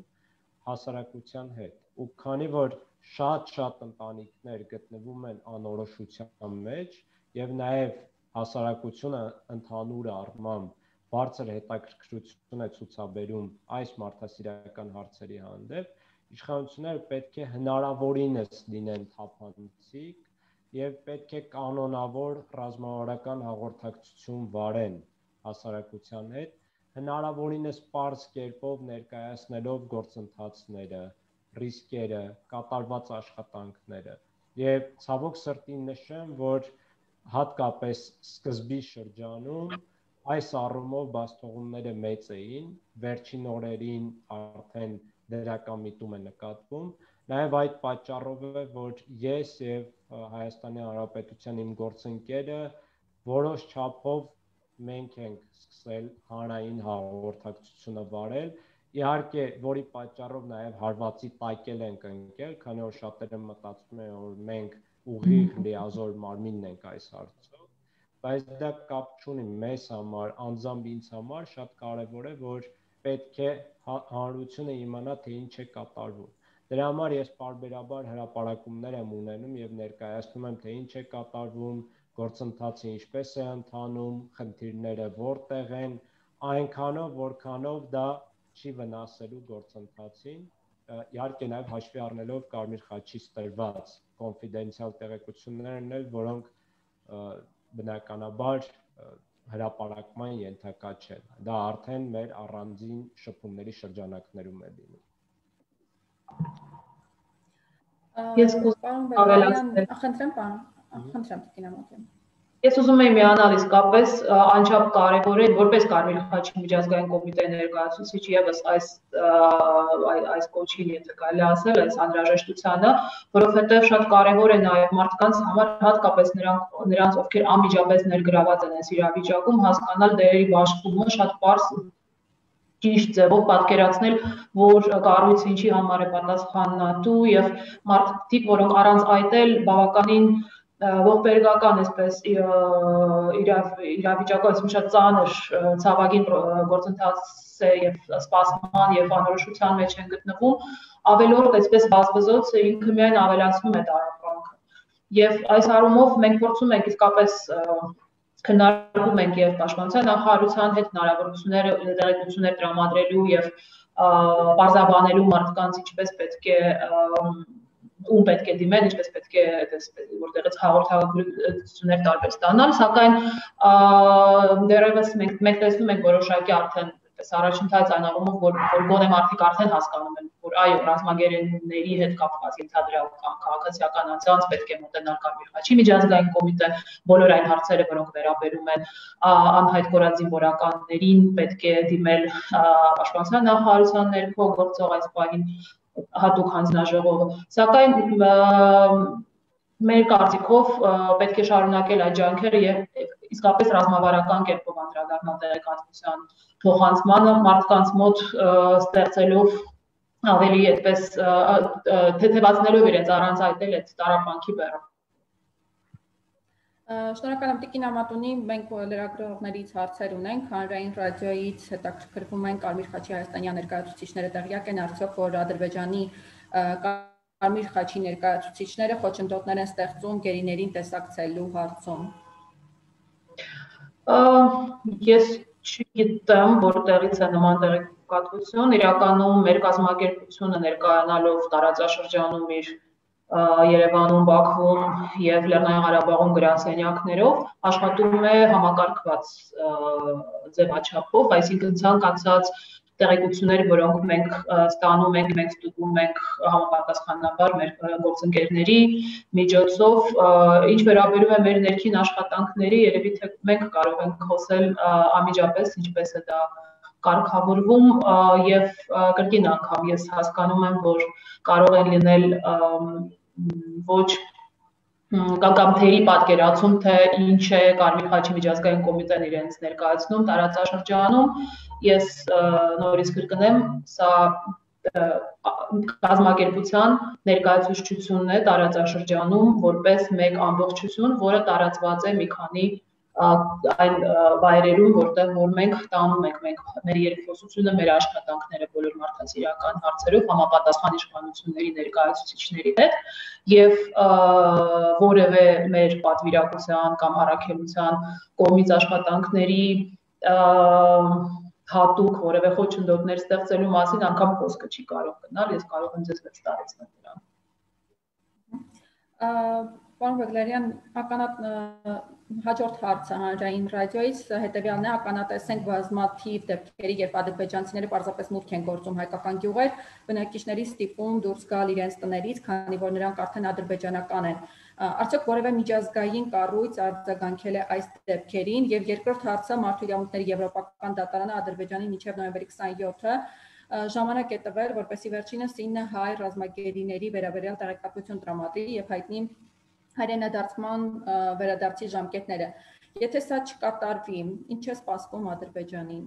հասարակության հետ։ Ու քանի որ շատ-շատ ընտանիքներ գտնվում են անորոշության մեջ եւ նաեւ հասարակությունը ընդհանուր առմամբ բարձր հետաքրքրություն է ցուցաբերում այս մարդասիրական հարցերի հանդեպ, իշխանությունները պետք է հնարավորինս լինեն թափանցիկ եւ պետք է կանոնավոր ռազմավարական հաղորդակցություն վարեն հասարակության հետ, հնարավորինս պարզ կերպով ներկայացնելով գործընթացները, ռիսկերը, կատարված աշխատանքները եւ ցավոք սրտի նշեմ, որ հատկապես սկզբի շրջանում այս առումով բացթողումները մեծ էին, վերջին օրերին արդեն դրական միտում է նկատվում, նաև այդ պատճառով է, որ ես եւ Հայաստանի Հանրապետության իմ գործընկերը որոշ չափով մենք ենք սկսել հանրային հաղորդակցությունը վարել, իհարկե, որի պատճառով նաև հարվածի տակել ենք ընկել, քանի որ շատերը մտածում են, որ մենք ուղիղ լիազոր մարմինն ենք այս հարցով, բայց դա կապ չունի մեզ համար, անձամբ ինձ համար շատ կարևոր է, որ պետք է հանրությունը իմանա, թե ինչ է կատարվում։ Դրա համար ես պարբերաբար հրապարակումներ եմ ունենում եւ ներկայացնում եմ, թե ինչ է կատարվում, գործընթացը ինչպես է ընթանում, խնդիրները որտեղ են, այնքանով, որքանով դա չի վնասելու գործընթացին, իհարկե նաև հաշվի առնելով Կարմիր խաչից տրված կոնֆիդենցիալ տեղեկություններն էլ, որոնք բնականաբար հրապարակման ենթակա չեն։ Դա արդեն մեր առանձին շփումների շրջանակներում է լինում։ Ես կուզում ավելացնել, խնդրեմ, պարոն, խնդրեմ, Տիկին Ես ուզում եմ միանալ իսկապես անչափ կարևոր է, որպես Կարմիր խաչի միջազգային կոմիտեի ներկայացուցիչ ևս այս այս կոչին, եթե կարելի ասել, այս անհրաժեշտությանը, որովհետև շատ կարևոր է նաև մարդկանց համար, հատկապես նրանք նրանց, ովքեր անմիջապես ներգրաված են այս իրավիճակում, հասկանալ դերերի բաշխումը շատ պարզ ճիշտ ձևով պատկերացնել, որ կառույցը ինչի համար է պատասխանատու եւ մարդիկ, որոնք առանց այդ էլ բավականին ողբերգական այսպես իրավիճակը այսպես շատ ծանր ցավագին գործընթաց է եւ սպասման եւ անորոշության մեջ են գտնվում, ավելորդ այսպես բազմազոց ինքը միայն ավելացնում է տարապանքը։ Եվ այս առումով մենք փորձում ենք իսկապես քննարկում ենք եւ պաշտպանության նախարարության հետ հնարավորությունները տեղեկություններ տրամադրելու եւ բարձրաբանելու մարդկանց ինչպես պետք է ում պետք է դիմել, ինչպես պետք է որտեղից հաղորդագրություններ տարբեր ստանալ, սակայն դեռևս մենք մենք տեսնում ենք որոշակի արդեն առաջընթաց այն առումով, որ գոնե մարդիկ արդեն հասկանում են, որ այո, ռազմագերիների հետ կապված ենթադրյալ կամ քաղաքացիական անձանց պետք է մոտենալ Կարմիր խաչի միջազգային կոմիտեն, բոլոր այն հարցերը, որոնք վերաբերում են անհայտ կորած զինվորականներին, պետք է դիմել պաշտպանության նախարարության ներքո գործող այս պահին հատուկ հանձնաժողովը, սակայն մեր կարծիքով պետք է շարունակել այդ ջանքերը եւ իսկապես ռազմավարական կերպով անդրադառնալ տեղեկատվության փոխանցմանը մարդկանց մոտ ստեղծելով ավելի այդպես թեթևացնելով իրենց առանց այտել այդ տարապանքի բեռը։ Շնորհակալ եմ Տիկին Ամատունի, մենք լրագրողներից հարցեր ունենք, հանրային ռադիոյից հետաքրքրվում են Կարմիր խաչի հայաստանյան ներկայացուցիչները տեղյակ են արդյոք, որ Ադրբեջանի Կարմիր խաչի ներկայացուցիչները խոչընդոտներ են ստեղծում գերիներին տեսակցելու հարցում։ Ես չգիտեմ, որտեղից է նման տեղեկատվություն, իրականում մեր կազմակերպությունը ներկայանալով տարածաշրջանում իր Երևանում, Բաքվում եւ Լեռնային Ղարաբաղում գրասենյակներով աշխատում է համակարգված ձևաչափով, այսինքն ցանկացած տեղեկություններ, որոնք մենք ստանում ենք, մենք ստուգում ենք համապատասխանաբար մեր գործընկերների միջոցով, ինչ վերաբերում է մեր ներքին աշխատանքների, երևի թե մենք կարող ենք խոսել անմիջապես, ինչպես է դա կարգավորվում եւ կրկին անգամ ես հասկանում եմ, որ կարող են լինել ոչ կամ թերի պատկերացում, թե ինչ է Կարմիր խաչի միջազգային կոմիտեն իրենց ներկայացնում տարածաշրջանում, ես նորից կրկնեմ, սա կազմակերպության ներկայացուցչությունն է տարածաշրջանում որպես մեկ ամբողջություն, որը տարածված է մի քանի այն վայրերում, որտեղ որ մենք տանում ենք մենք մեր երկխոսությունը, մեր աշխատանքները բոլոր մարդասիրական հարցերով համապատասխան իշխանությունների ներկայացուցիչների հետ եւ որևէ մեր պատվիրակության կամ առաքելության կողմից աշխատանքների հատուկ որևէ խոչընդոտներ ստեղծելու մասին անգամ խոսքը չի կարող գնալ, ես կարող եմ ձեզ վստահեցնել դրան։ Պարոն Բեգլարյան, ականատ հաջորդ հարցը հանրային ռադիոից հետևյալն է, ականատեսենք բազմաթիվ դեպքերի, երբ ադրբեջանցիները պարզապես մուտք են գործում հայկական գյուղեր, բնակիչների ստիպում դուրս գալ իրենց տներից, քանի որ նրանք արդեն ադրբեջանական են։ Արդյոք որևէ միջազգային կառույց արձագանքել է այս դեպքերին, եւ երկրորդ հարցը մարդու իրավունքների եվրոպական դատարանը Ադրբեջանի մինչև նոյեմբերի քսաներկուը ժամանակ է տվել, որպեսզի վերջինս ինը հայ ռազմագերիների վերաբերյալ տեղեկատվություն տրամադրի եւ հայտնի հայրենադարձման վերադարձի ժամկետները։ Եթե սա չկատարվի, ինչ է սպասվում Ադրբեջանին։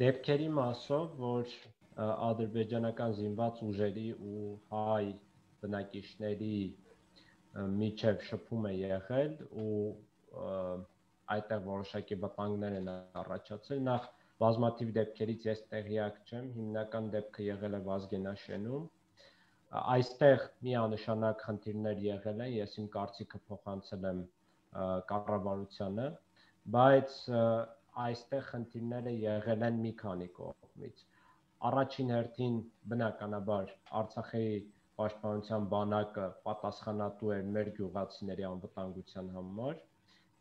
Դեպքերի մասով, որ ադրբեջանական զինված ուժերի ու հայ բնակիչների միջև շփում է եղել ու այդտեղ որոշակի վտանգներ են առաջացել, նախ բազմաթիվ դեպքերից ես տեղյակ չեմ, հիմնական դեպքը եղել է Վազգենաշենում, այստեղ միանշանակ խնդիրներ եղել են, ես իմ կարծիքը փոխանցել եմ կառավարությանը, բայց այստեղ խնդիրները եղել են մի քանի կողմից։ Առաջին հերթին բնականաբար Արցախի պաշտպանության բանակը պատասխանատու էր մեր գյուղացիների անվտանգության համար,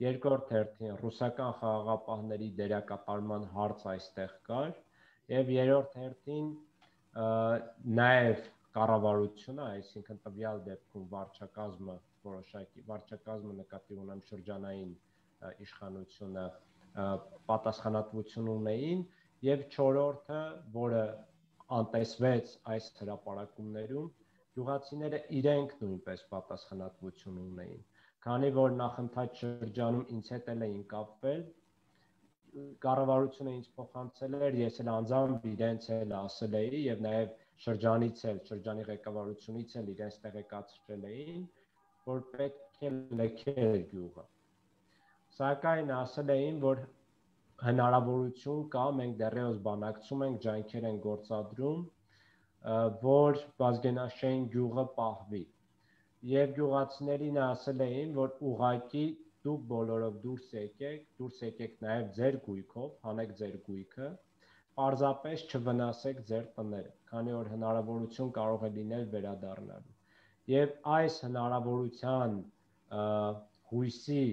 երկրորդ հերթին ռուսական խաղաղապահների դերակատարման հարց այստեղ կար, եւ երրորդ հերթին նաեւ կառավարությունը, այսինքն տվյալ դեպքում վարչակազմը, որոշակի վարչակազմը նկատի ունեմ շրջանային իշխանությունը պատասխանատվություն ունեին, եւ չորրորդը, որը անտեսվեց այս հրապարակումներում, գյուղացիները իրենք նույնպես պատասխանատվություն ունեին, քանի որ նախընթաց շրջանում ինձ հետ էին կապվել, կառավարությունը ինձ փոխանցել էր, ես էլ անձամբ իրենց էլ ասել էի եւ նաեւ շրջանից էլ, շրջանի ղեկավարությունից էլ իրենց տեղեկացրել էին, որ պետք է լքել գյուղը։ Սակայն ասել էին, որ հնարավորություն կա, մենք դեռևս բանակցում ենք, ջանքեր են գործադրում, որ Վազգենաշեն գյուղը պահվի։ Եվ գյուղացիներին ասել էին, որ ուղղակի դուք բոլորով դուրս եկեք, դուրս եկեք նաև ձեր գույքով, հանեք ձեր գույքը, պարզապես չվնասեք ձեր տները, քանի որ հնարավորություն կարող է լինել վերադառնալու։ Եվ այս հնարավորության հույսի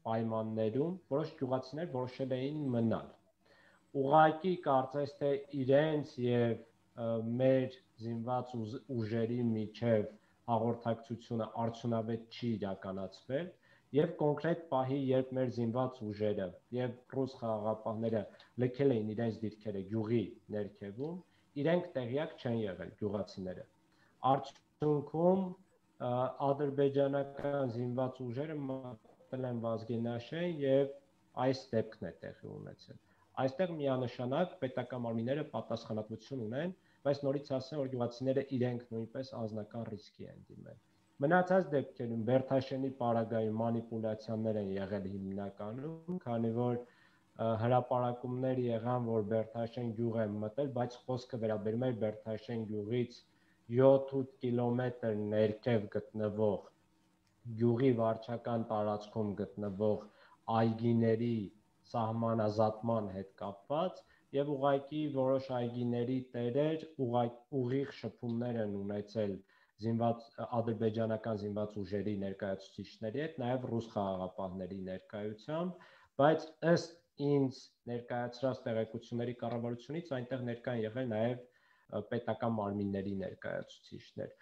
պայմաններում որոշ գյուղացիներ որոշել էին մնալ։ Ուղղակի կարծես թե իրենց եւ մեր զինված ուժերի միջև հաղորդակցությունը արդյունավետ չի իրականացվել եւ կոնկրետ պահի, երբ մեր զինված ուժերը եւ ռուս խաղաղապահները լքել էին իրենց դիրքերը գյուղի ներքևում, իրենք տեղյակ չեն եղել գյուղացիները։ Արդյունքում ադրբեջանական զինված ուժերը մտել են Վազգենաշեն եւ այս դեպքն է տեղի ունեցել։ Այստեղ միանշանակ պետական մարմինները պատասխանատվություն ունեն, բայց նորից ասեմ, որ գյուղացիները իրենք նույնպես անձնական ռիսկի են դիմել։ Մնացած դեպքերում Բերթաշենի պարագայում մանիպուլյացիաներ են եղել հիմնականում, քանի որ հրապարակումներ եղան, որ Բերթաշեն գյուղ է մտել, բայց խոսքը վերաբերում է Բերթաշեն գյուղից յոթ-ութ կիլոմետր ներքև գտնվող գյուղի վարչական տարածքում գտնվող այգիների սահմանազատման հետ կապված եւ ուղղակի որոշ այգիների տերեր ուղիղ շփումներ են ունեցել զինված ադրբեջանական զինված ուժերի ներկայացուցիչների հետ, նաեւ ռուս խաղաղապահների ներկայությամբ, բայց ըստ ինձ ներկայացրած տեղեկությունների կառավարությունից այնտեղ ներկա են եղել նաեւ պետական մարմինների ներկայացուցիչներ։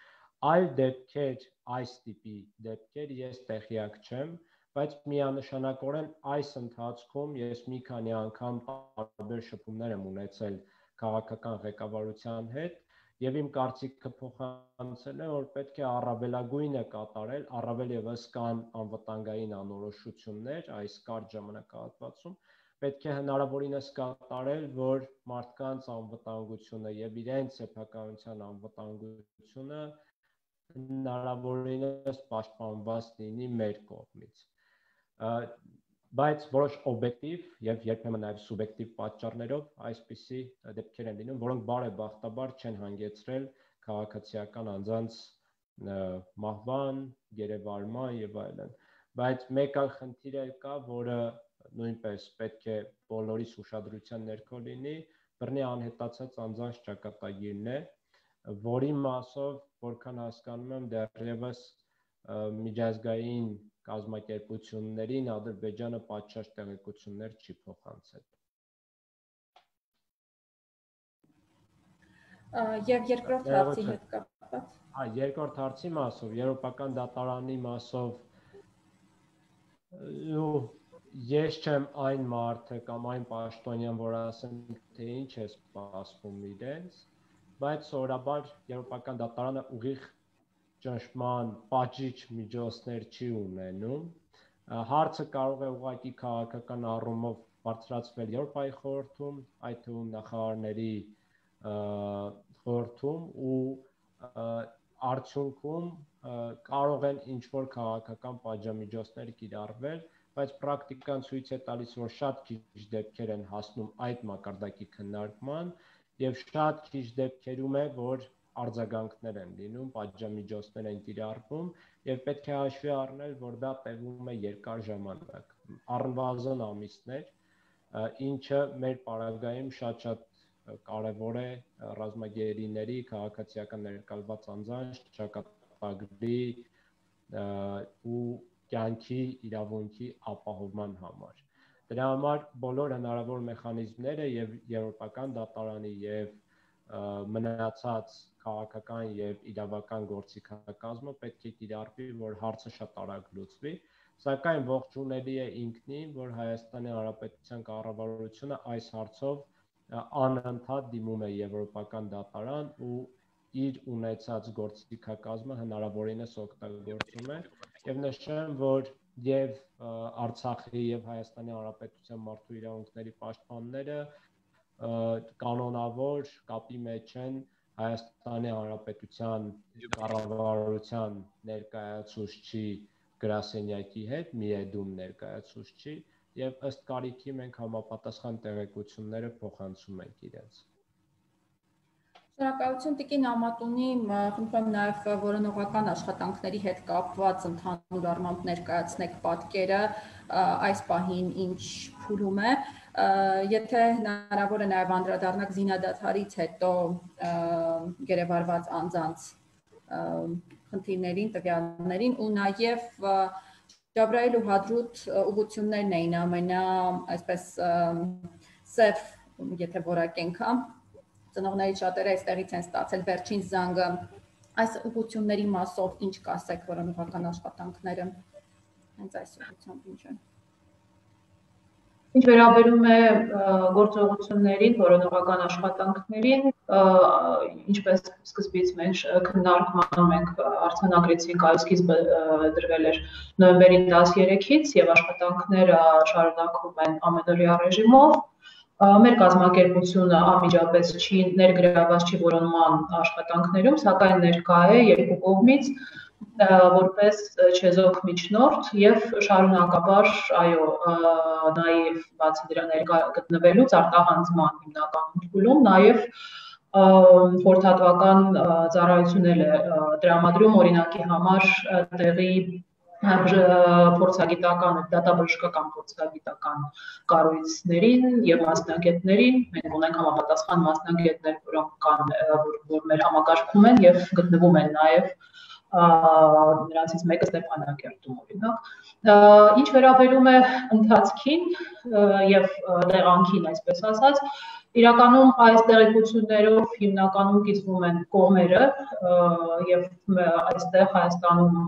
Այլ դեպքեր, այս տիպի դեպքեր ես տեղյակ չեմ, բայց միանշանակորեն այս ընթացքում ես մի քանի անգամ տարբեր շփումներ եմ ունեցել քաղաքական ղեկավարության հետ եւ իմ կարծիքը փոխանցել է, որ պետք է առավելագույնը կատարել, առավել եւս կան անվտանգային անորոշություններ այս կարճ ժամանակահատվածում, պետք է հնարավորինս կատարել, որ մարդկանց անվտանգությունը եւ իրենց սեփականության անվտանգությունը հնարավորինս պաշտպանված լինի մեր կողմից։ Բայց որոշ օբյեկտիվ եւ երբեմն նաեւ սուբյեկտիվ պատճառներով այսպիսի դեպքեր են լինում, որոնք բարեբախտաբար չեն հանգեցրել քաղաքացիական անձանց մահվան, գերեվարման եւ այլն։ Բայց մեկ այլ խնդիր էլ կա, որը նույնպես պետք է բոլորիս ուշադրության ներքո լինի, բռնի անհետացած անձանց ճակատագիրն է, որի մասով, որքան հասկանում եմ, դեռևս միջազգային կազմակերպություններին Ադրբեջանը պատշաճ տեղեկություններ չի փոխանցել։ Եվ երկրորդ հարցի հետ կապված։ Հա, երկրորդ հարցի մասով, եվրոպական դատարանի մասով, ես չեմ այն մարդը կամ այն պաշտոնյան, որ ասեմ, թե ինչ է սպասվում իրենց, բայց սովորաբար եվրոպական դատարանը ուղիղ ճնշման պատժիչ միջոցներ չի ունենում։ Հարցը կարող է ուղղակի քաղաքական առումով բարձրացվել Եվրոպայի խորհրդում, այդ թվում նախարարների խորհրդում ու արդյունքում կարող են ինչ-որ քաղաքական պատժամիջոցներ կիրառվել, բայց պրակտիկան ցույց է տալիս, որ շատ քիչ դեպքեր են հասնում այդ մակարդակի քննարկման եւ շատ քիչ դեպքերում է, որ արձագանքներ են լինում, պատժամիջոցներ են կիրառվում եւ պետք է հաշվի առնել, որ դա տևում է երկար ժամանակ, առնվազն ամիսներ, ինչը մեր պարագայում շատ-շատ կարևոր է ռազմագերիների, քաղաքացիական ներկայացված անձանց ճակատագրի ու կյանքի իրավունքի ապահովման համար։ Դրա համար բոլոր հնարավոր մեխանիզմները եւ եվրոպական դատարանի եւ մնացած քաղաքական եւ իրավական գործիքակազմը պետք է կիրառվի, որ հարցը շատ արագ լուծվի, սակայն ողջունելի է ինքնին, որ Հայաստանի Հանրապետության կառավարությունը այս հարցով անընդհատ դիմում է եվրոպական դատարան ու իր ունեցած գործիքակազմը հնարավորինս օգտագործում է եւ նշեմ, որ եւ Արցախի եւ Հայաստանի Հանրապետության մարդու իրավունքների պաշտպանները կանոնավոր կապի մեջ են Հայաստանի Հանրապետության կառավարության ներկայացուցչի գրասենյակի հետ, միեդում ներկայացուցչի եւ ըստ կարիքի մենք համապատասխան տեղեկությունները փոխանցում ենք իրենց։ Շնորհակալություն Տիկին Ամատունի, խնդրում եմ նաև որոնողական աշխատանքների հետ կապված ընդհանուր առմամբ ներկայացնեք պատկերը այս պահին ինչ փուլում է, եթե հնարավոր է նաև անդրադառնաք զինադադարից հետո գերեվարված անձանց խնդիրներին, տվյալներին ու նաև Ջաբրայել ու Հադրութ ուղղություններն էին ամենա, այսպես սև, եթե որակենք, ծնողների շատերը այստեղից են ստացել վերջին զանգը, այս ուղղությունների մասով ինչ կասեք որոնողական աշխատանքները, հենց այս ուղղությամբ ինչ են։ Ինչ վերաբերում է գործողություններին, որոնողական աշխատանքներին, ինչպես սկզբից մենք քննարկման մենք արձանագրեցինք, այս սկիզբը դրվել էր նոյեմբերի տասներեքից եւ աշխատանքները շարունակվում են ամենօրյա ռեժիմով։ Մեր կազմակերպությունը անմիջապես չի ներգրաված չի որոնման աշխատանքներում, սակայն ներկա է երկու կողմից որպես չեզոք միջնորդ եւ շարունակաբար, այո, նաեւ բացի դրա ներկա գտնվելուց արտահանձման հիմնական փուլում նաեւ խորհրդատվական ծառայություններ է տրամադրում օրինակի համար տեղի փորձագիտական, դատաբժշկական փորձագիտական կառույցներին եւ մասնագետներին, մենք ունենք համապատասխան մասնագետներ, որոնք կան, որ մեր համակարգում են եւ գտնվում են նաեւ նրանցից մեկը Ստեփանակերտում օրինակ։ Ինչ վերաբերում է ընթացքին եւ տեղանքին, այսպես ասած, իրականում այս տեղեկություններով հիմնականում կիսվում են կողմերը եւ այստեղ Հայաստանում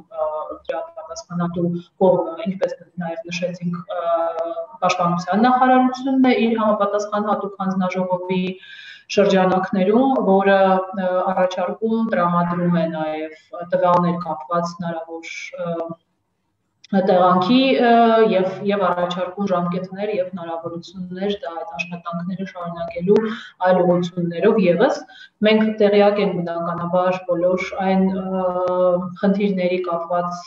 դրա պատասխանատու կողմը, ինչպես նաեւ նշեցինք, Պաշտպանության նախարարությունն է իր համապատասխան հատուկ հանձնաժողովի շրջանակներում, որը առաջարկում տրամադրում է նաև տվյալներ կապված հնարավոր տեղանքի եւ եւ առաջարկում ժամկետներ եւ հնարավորություններ դա այդ աշխատանքները շարունակելու այլ ուղղություններով եւս մենք տեղյակ ենք բնականաբար բոլոր այն խնդիրների կապված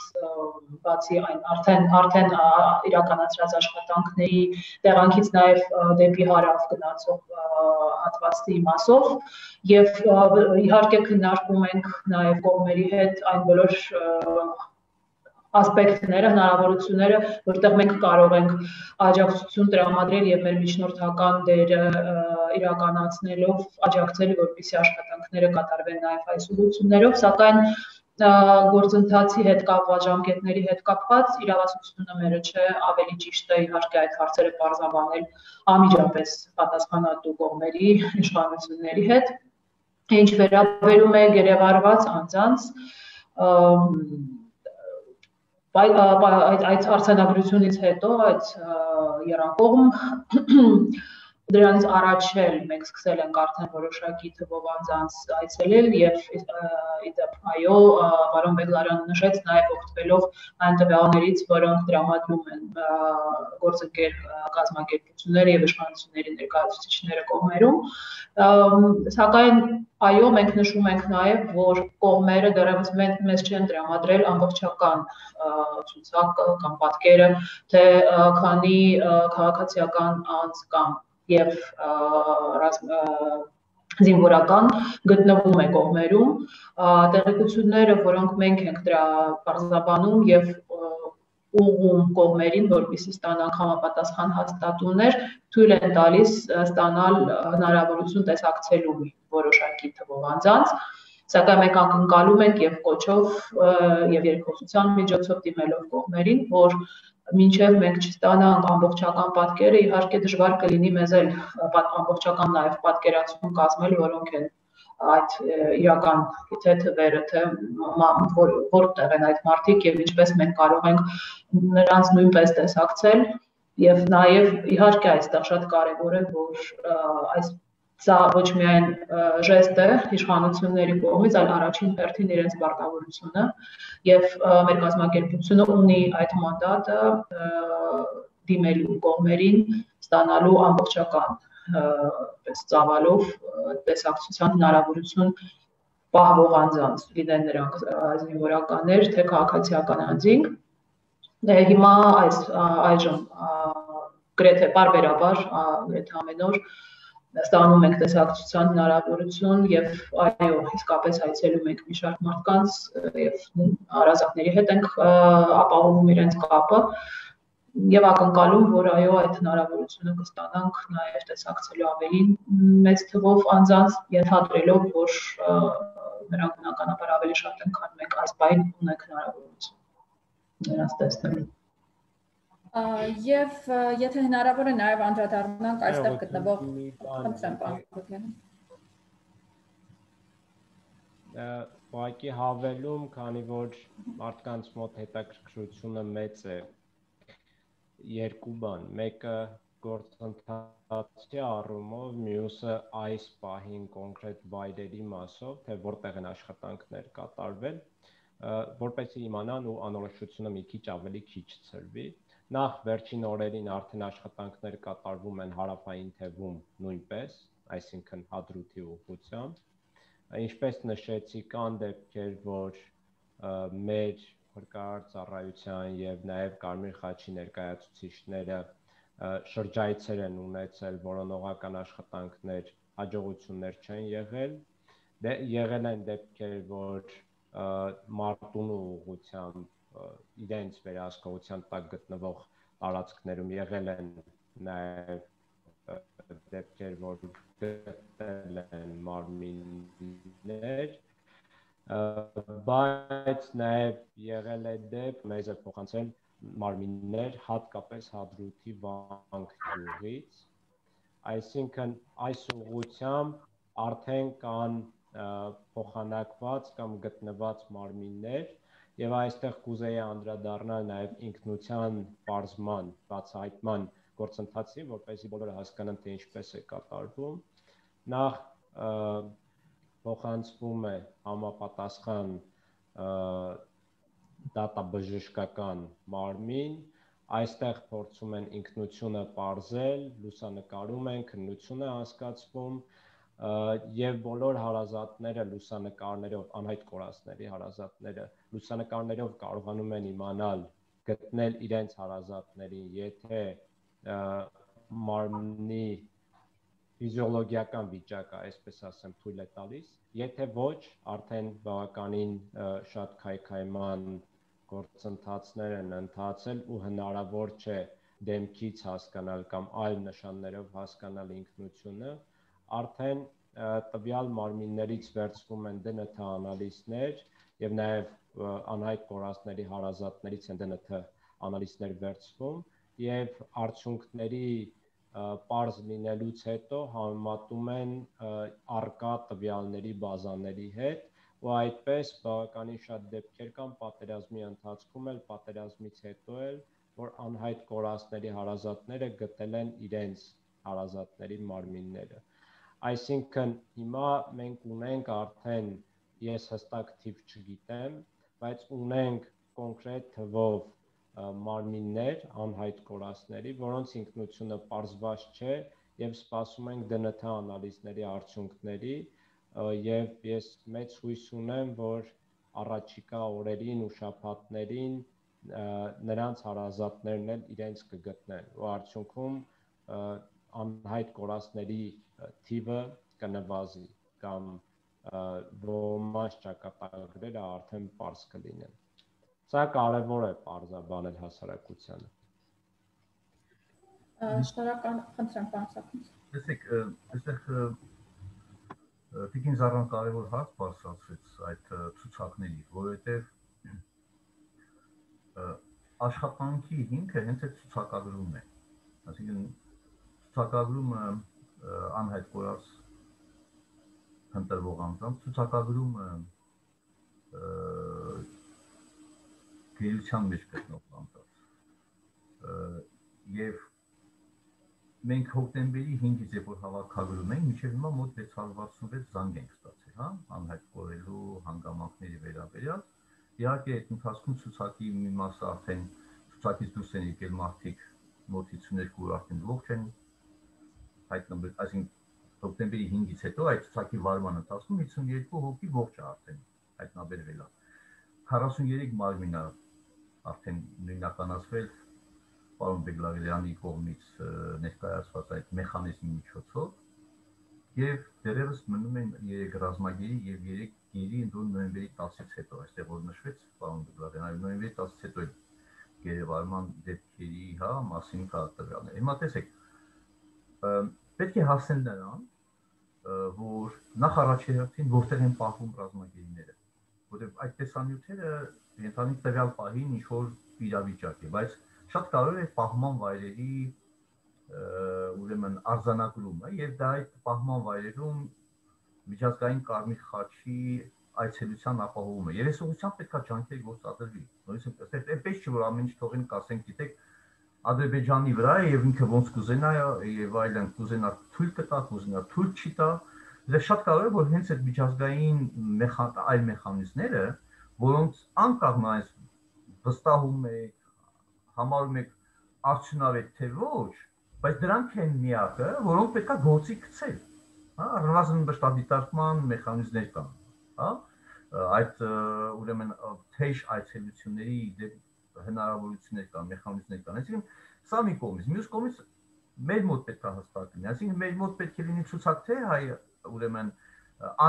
բացի այն արդեն արդեն իրականացրած աշխատանքների տեղանքից նաեւ դեպի հարավ գնացող հատվածի մասով եւ իհարկե քննարկում ենք նաեւ կողմերի հետ այն բոլոր ասպեկտները, հնարավորությունները, որտեղ մենք կարող ենք աջակցություն տրամադրել եւ մեր միջնորդական դերը իրականացնելով աջակցել, որպեսզի աշխատանքները կատարվեն նաեւ այս ուղղություններով, սակայն գործընթացի հետ կապված, ժամկետների հետ կապված իրավասությունը մերը չէ, ավելի ճիշտ է իհարկե այդ հարցերը պարզաբանել անմիջապես պատասխանատու կողմերի, իշխանությունների հետ։ Ինչ վերաբերում է գերեվարված անձանց, այդ արձանագրությունից հետո, այդ եռակողմ դրանից առաջ էլ մենք սկսել ենք արդեն որոշակի թվով անձանց այցելել եւ իդեպ այո, պարոն Բեգլարյանը նշեց նաեւ օգտվելով այն տվյալներից, որոնք տրամադրում են գործընկեր կազմակերպությունները եւ իշխանությունների ներկայացուցիչները կողմերում, սակայն այո, մենք նշում ենք նաեւ, որ կողմերը դեռևս մեզ չեն տրամադրել ամբողջական ցուցակ կամ պատկերը, թե քանի քաղաքացիական անձ կամ եւ զինվորական գտնվում է կողմերում, տեղեկությունները, որոնք մենք ենք դրա պարզաբանում եւ ուղղում կողմերին, որպեսզի ստանան համապատասխան հաստատումներ, թույլ են տալիս ստանալ հնարավորություն տեսակցելու որոշակի թվով անձանց, սակայն մենք ակնկալում ենք եւ կոչով եւ երկխոսության միջոցով դիմելով կողմերին, որ մինչև մենք չստանանք ամբողջական պատկերը, իհարկե դժվար կլինի մեզ էլ ամբողջական նաև պատկերացում կազմել, որոնք են այդ իրական թե թվերը, թե որտեղ են այդ մարդիկ եւ ինչպես մենք կարող ենք նրանց նույնպես տեսակցել եւ նաև իհարկե այստեղ շատ կարեւոր է, որ այս սա ոչ միայն ժեստ է իշխանությունների կողմից, այլ առաջին հերթին իրենց պարտավորությունը եւ մեր կազմակերպությունը ունի այդ մանդատը դիմելու կողմերին ստանալու ամբողջական ծավալով տեսակցության հնարավորություն պահվող անձանց, լինեն նրանք զինվորականներ, թե քաղաքացիական անձինք։ Հիմա այս այժմ գրեթե պարբերաբար, գրեթե ամեն օր ստանում ենք տեսակցության հնարավորություն եւ այո, իսկապես այցելում ենք մի շարք մարդկանց եւ հարազատների հետ ենք ապահովում իրենց կապը եւ ակնկալում, որ այո, այդ հնարավորությունը կստանանք նաեւ տեսակցելու ավելի մեծ թվով անձանց, ենթադրելով, որ նրանք բնականաբար ավելի շատ են, քան մենք այս բային ունենք հնարավորություն նրանց տեսնելու։ Եվ եթե հնարավոր է նաև անդրադառնանք այստեղ գտնվող խնդրեմ պարոն Բեգլարյան։ Ուղղակի հավելում, քանի որ մարդկանց մոտ հետաքրքրությունը մեծ է, երկու բան, մեկը գործընթացի առումով, մյուսը այս պահին կոնկրետ վայրերի մասով, թե որտեղ են աշխատանքներ կատարվել, որպեսզի իմանան ու անորոշությունը մի քիչ ավելի քիչ ցրվի։ Նախ վերջին օրերին արդեն աշխատանքներ կատարվում են հարավային թևում նույնպես, այսինքն Հադրութի ուղղությամբ։ Ինչպես նշեցի, կան դեպքեր, որ մեր փրկարար ծառայության եւ նաեւ Կարմիր խաչի ներկայացուցիչները շրջայցեր են ունեցել, որոնողական աշխատանքներ հաջողություններ չեն եղել։ Դե եղել են դեպքեր, որ Մարտունու ուղղությամբ իրենց վերահսկողության տակ գտնվող տարածքներում եղել են նաև դեպքեր, որ գտել են մարմիններ, բայց նաև եղել է դեպք, մեզ է փոխանցել մարմիններ հատկապես Հադրութի Վանք գյուղից, այսինքն այս ուղղությամբ արդեն կան փոխանակված կամ գտնված մարմիններ եւ այստեղ կուզեի անդրադառնալ նաեւ ինքնության պարզման, բացահայտման գործընթացին, որպեսզի բոլորը հասկանան, թե ինչպես է կատարվում։ Նախ փոխանցվում է համապատասխան դատաբժշկական մարմին, այստեղ փորձում են ինքնությունը պարզել, լուսանկարում են, քննություն է անցկացվում եւ բոլոր հարազատները լուսանկարներով, անհայտ կորածների հարազատները լուսանկարներով կարողանում են իմանալ, գտնել իրենց հարազատներին, եթե մարմնի ֆիզիոլոգիական վիճակը, այսպես ասեմ, թույլ է տալիս, եթե ոչ, արդեն բավականին շատ քայքայման գործընթացներ են ընթացել ու հնարավոր չէ դեմքից հասկանալ կամ այլ նշաններով հասկանալ ինքնությունը, արդեն տվյալ մարմիններից վերցվում են դե են թե անալիզներ եւ նաեւ անհայտ կորածների հարազատներից են դե են թե անալիզներ վերցվում եւ արդյունքների պարզ լինելուց հետո համեմատում են առկա տվյալների բազաների հետ ու այդպես բավականին շատ դեպքեր կան պատերազմի ընթացքում էլ, պատերազմից հետո էլ, որ անհայտ կորածների հարազատները գտել են իրենց հարազատների մարմինները։ Այսինքն հիմա մենք ունենք արդեն, ես հստակ թիվ չգիտեմ, բայց ունենք կոնկրետ թվով մարմիններ անհայտ կորածների, որոնց ինքնությունը պարզված չէ եւ սպասում ենք դե են թե անալիզների արդյունքների եւ ես մեծ հույս ունեմ, որ առաջիկա օրերին ու շաբաթներին նրանց հարազատներն էլ իրենց կգտնեն ու արդյունքում անհայտ կորածների թիվը կնվազի կամ ոմանց ճակատագրերը արդեն պարզ կլինեն։ Սա կարևոր է պարզաբանել հասարակությանը։ Շնորհակալ խնդրեմ, պարոն Սարգսյան։ Տեսեք, այստեղ Տիկին Զարան կարևոր հարց բարձրացրեց այդ ցուցակների, որովհետև աշխատանքի հիմքը հենց այդ ցուցակագրումն է։ Այսինքն ցուցակագրումը անհայտ կորած ընտրվող անձանց ցուցակագրումը գերության մեջ գտնող անձանց եւ մենք հոկտեմբերի հինգից երբ որ հավաքագրում ենք, մինչև հիմա մոտ վեց հարյուր վաթսունվեց զանգ ենք ստացել, հա, անհայտ կորելու հանգամանքների վերաբերյալ։ Իհարկե այդ ընթացքում ցուցակի մի մասը արդեն ցուցակից դուրս են եկել մարդիկ մոտ հիսուն երկու օր արդեն ողջ են հայտնվել, այսինքն հոկտեմբերի հինգից հետո այդ ցուցակի վարման ընթացքում հիսուն երկու հոգի ողջ է արդեն հայտնաբերվել է։ քառասուններեք մարմին է արդեն նույնականացվել պարոն Բեգլարյանի կողմից ներկայացված այդ մեխանիզմի միջոցով եւ դերևս մնում են երեք ռազմագերի եւ երեք գերի ընդուն նոյեմբերի տասից հետո, այստեղ որ նշվեց պարոն Բեգլարյանը, նոյեմբերի տասից հետո գերեվարման դեպքերի, հա, մասին կա տվյալներ։ Հիմա տեսեք, պետք է հասնել նրան, որ նախ առաջի հերթին որտեղ են պահվում ռազմագերիները, որովհետեւ այդ տեսանյութերը ընդհանուր տվյալ պահին ինչ որ իրավիճակ է, բայց շատ կարևոր է պահման վայրերի ուրեմն արձանագրումը եւ դա այդ պահման վայրերում միջազգային Կարմիր խաչի այցելության ապահովումը։ Եվ այս ուղղությամբ պետք է ջանքեր գործադրվի։ Նույնիսկ այստեղ այնպես չի որ ամեն ինչ թողին կասենք, գիտեք, Ադրբեջանի վրա է եւ ինքը ոնց կուզենա եւ այլն կուզենա թույլ կտա, կուզենա թույլ չի տա։ Դա շատ կարևոր է որ հենց այդ միջազգային այլ մեխանիզմները, որոնց անկախ նայած վստահում է համարում եք արդյունավետ թե ոչ, բայց դրանք են միակը, որոնք պետք է գործի գցել, հա, առնվազն մշտադիտարկման մեխանիզմներ կան, հա, այդ ուրեմն թեժ այցելությունների հնարավորություններ կան, մեխանիզմներ կան, այսինքն սա մի կողմից, մյուս կողմից մեր մոտ պետք է հստակ լինի, այսինքն մեր մոտ պետք է լինի ցուցակ թե հայ ուրեմն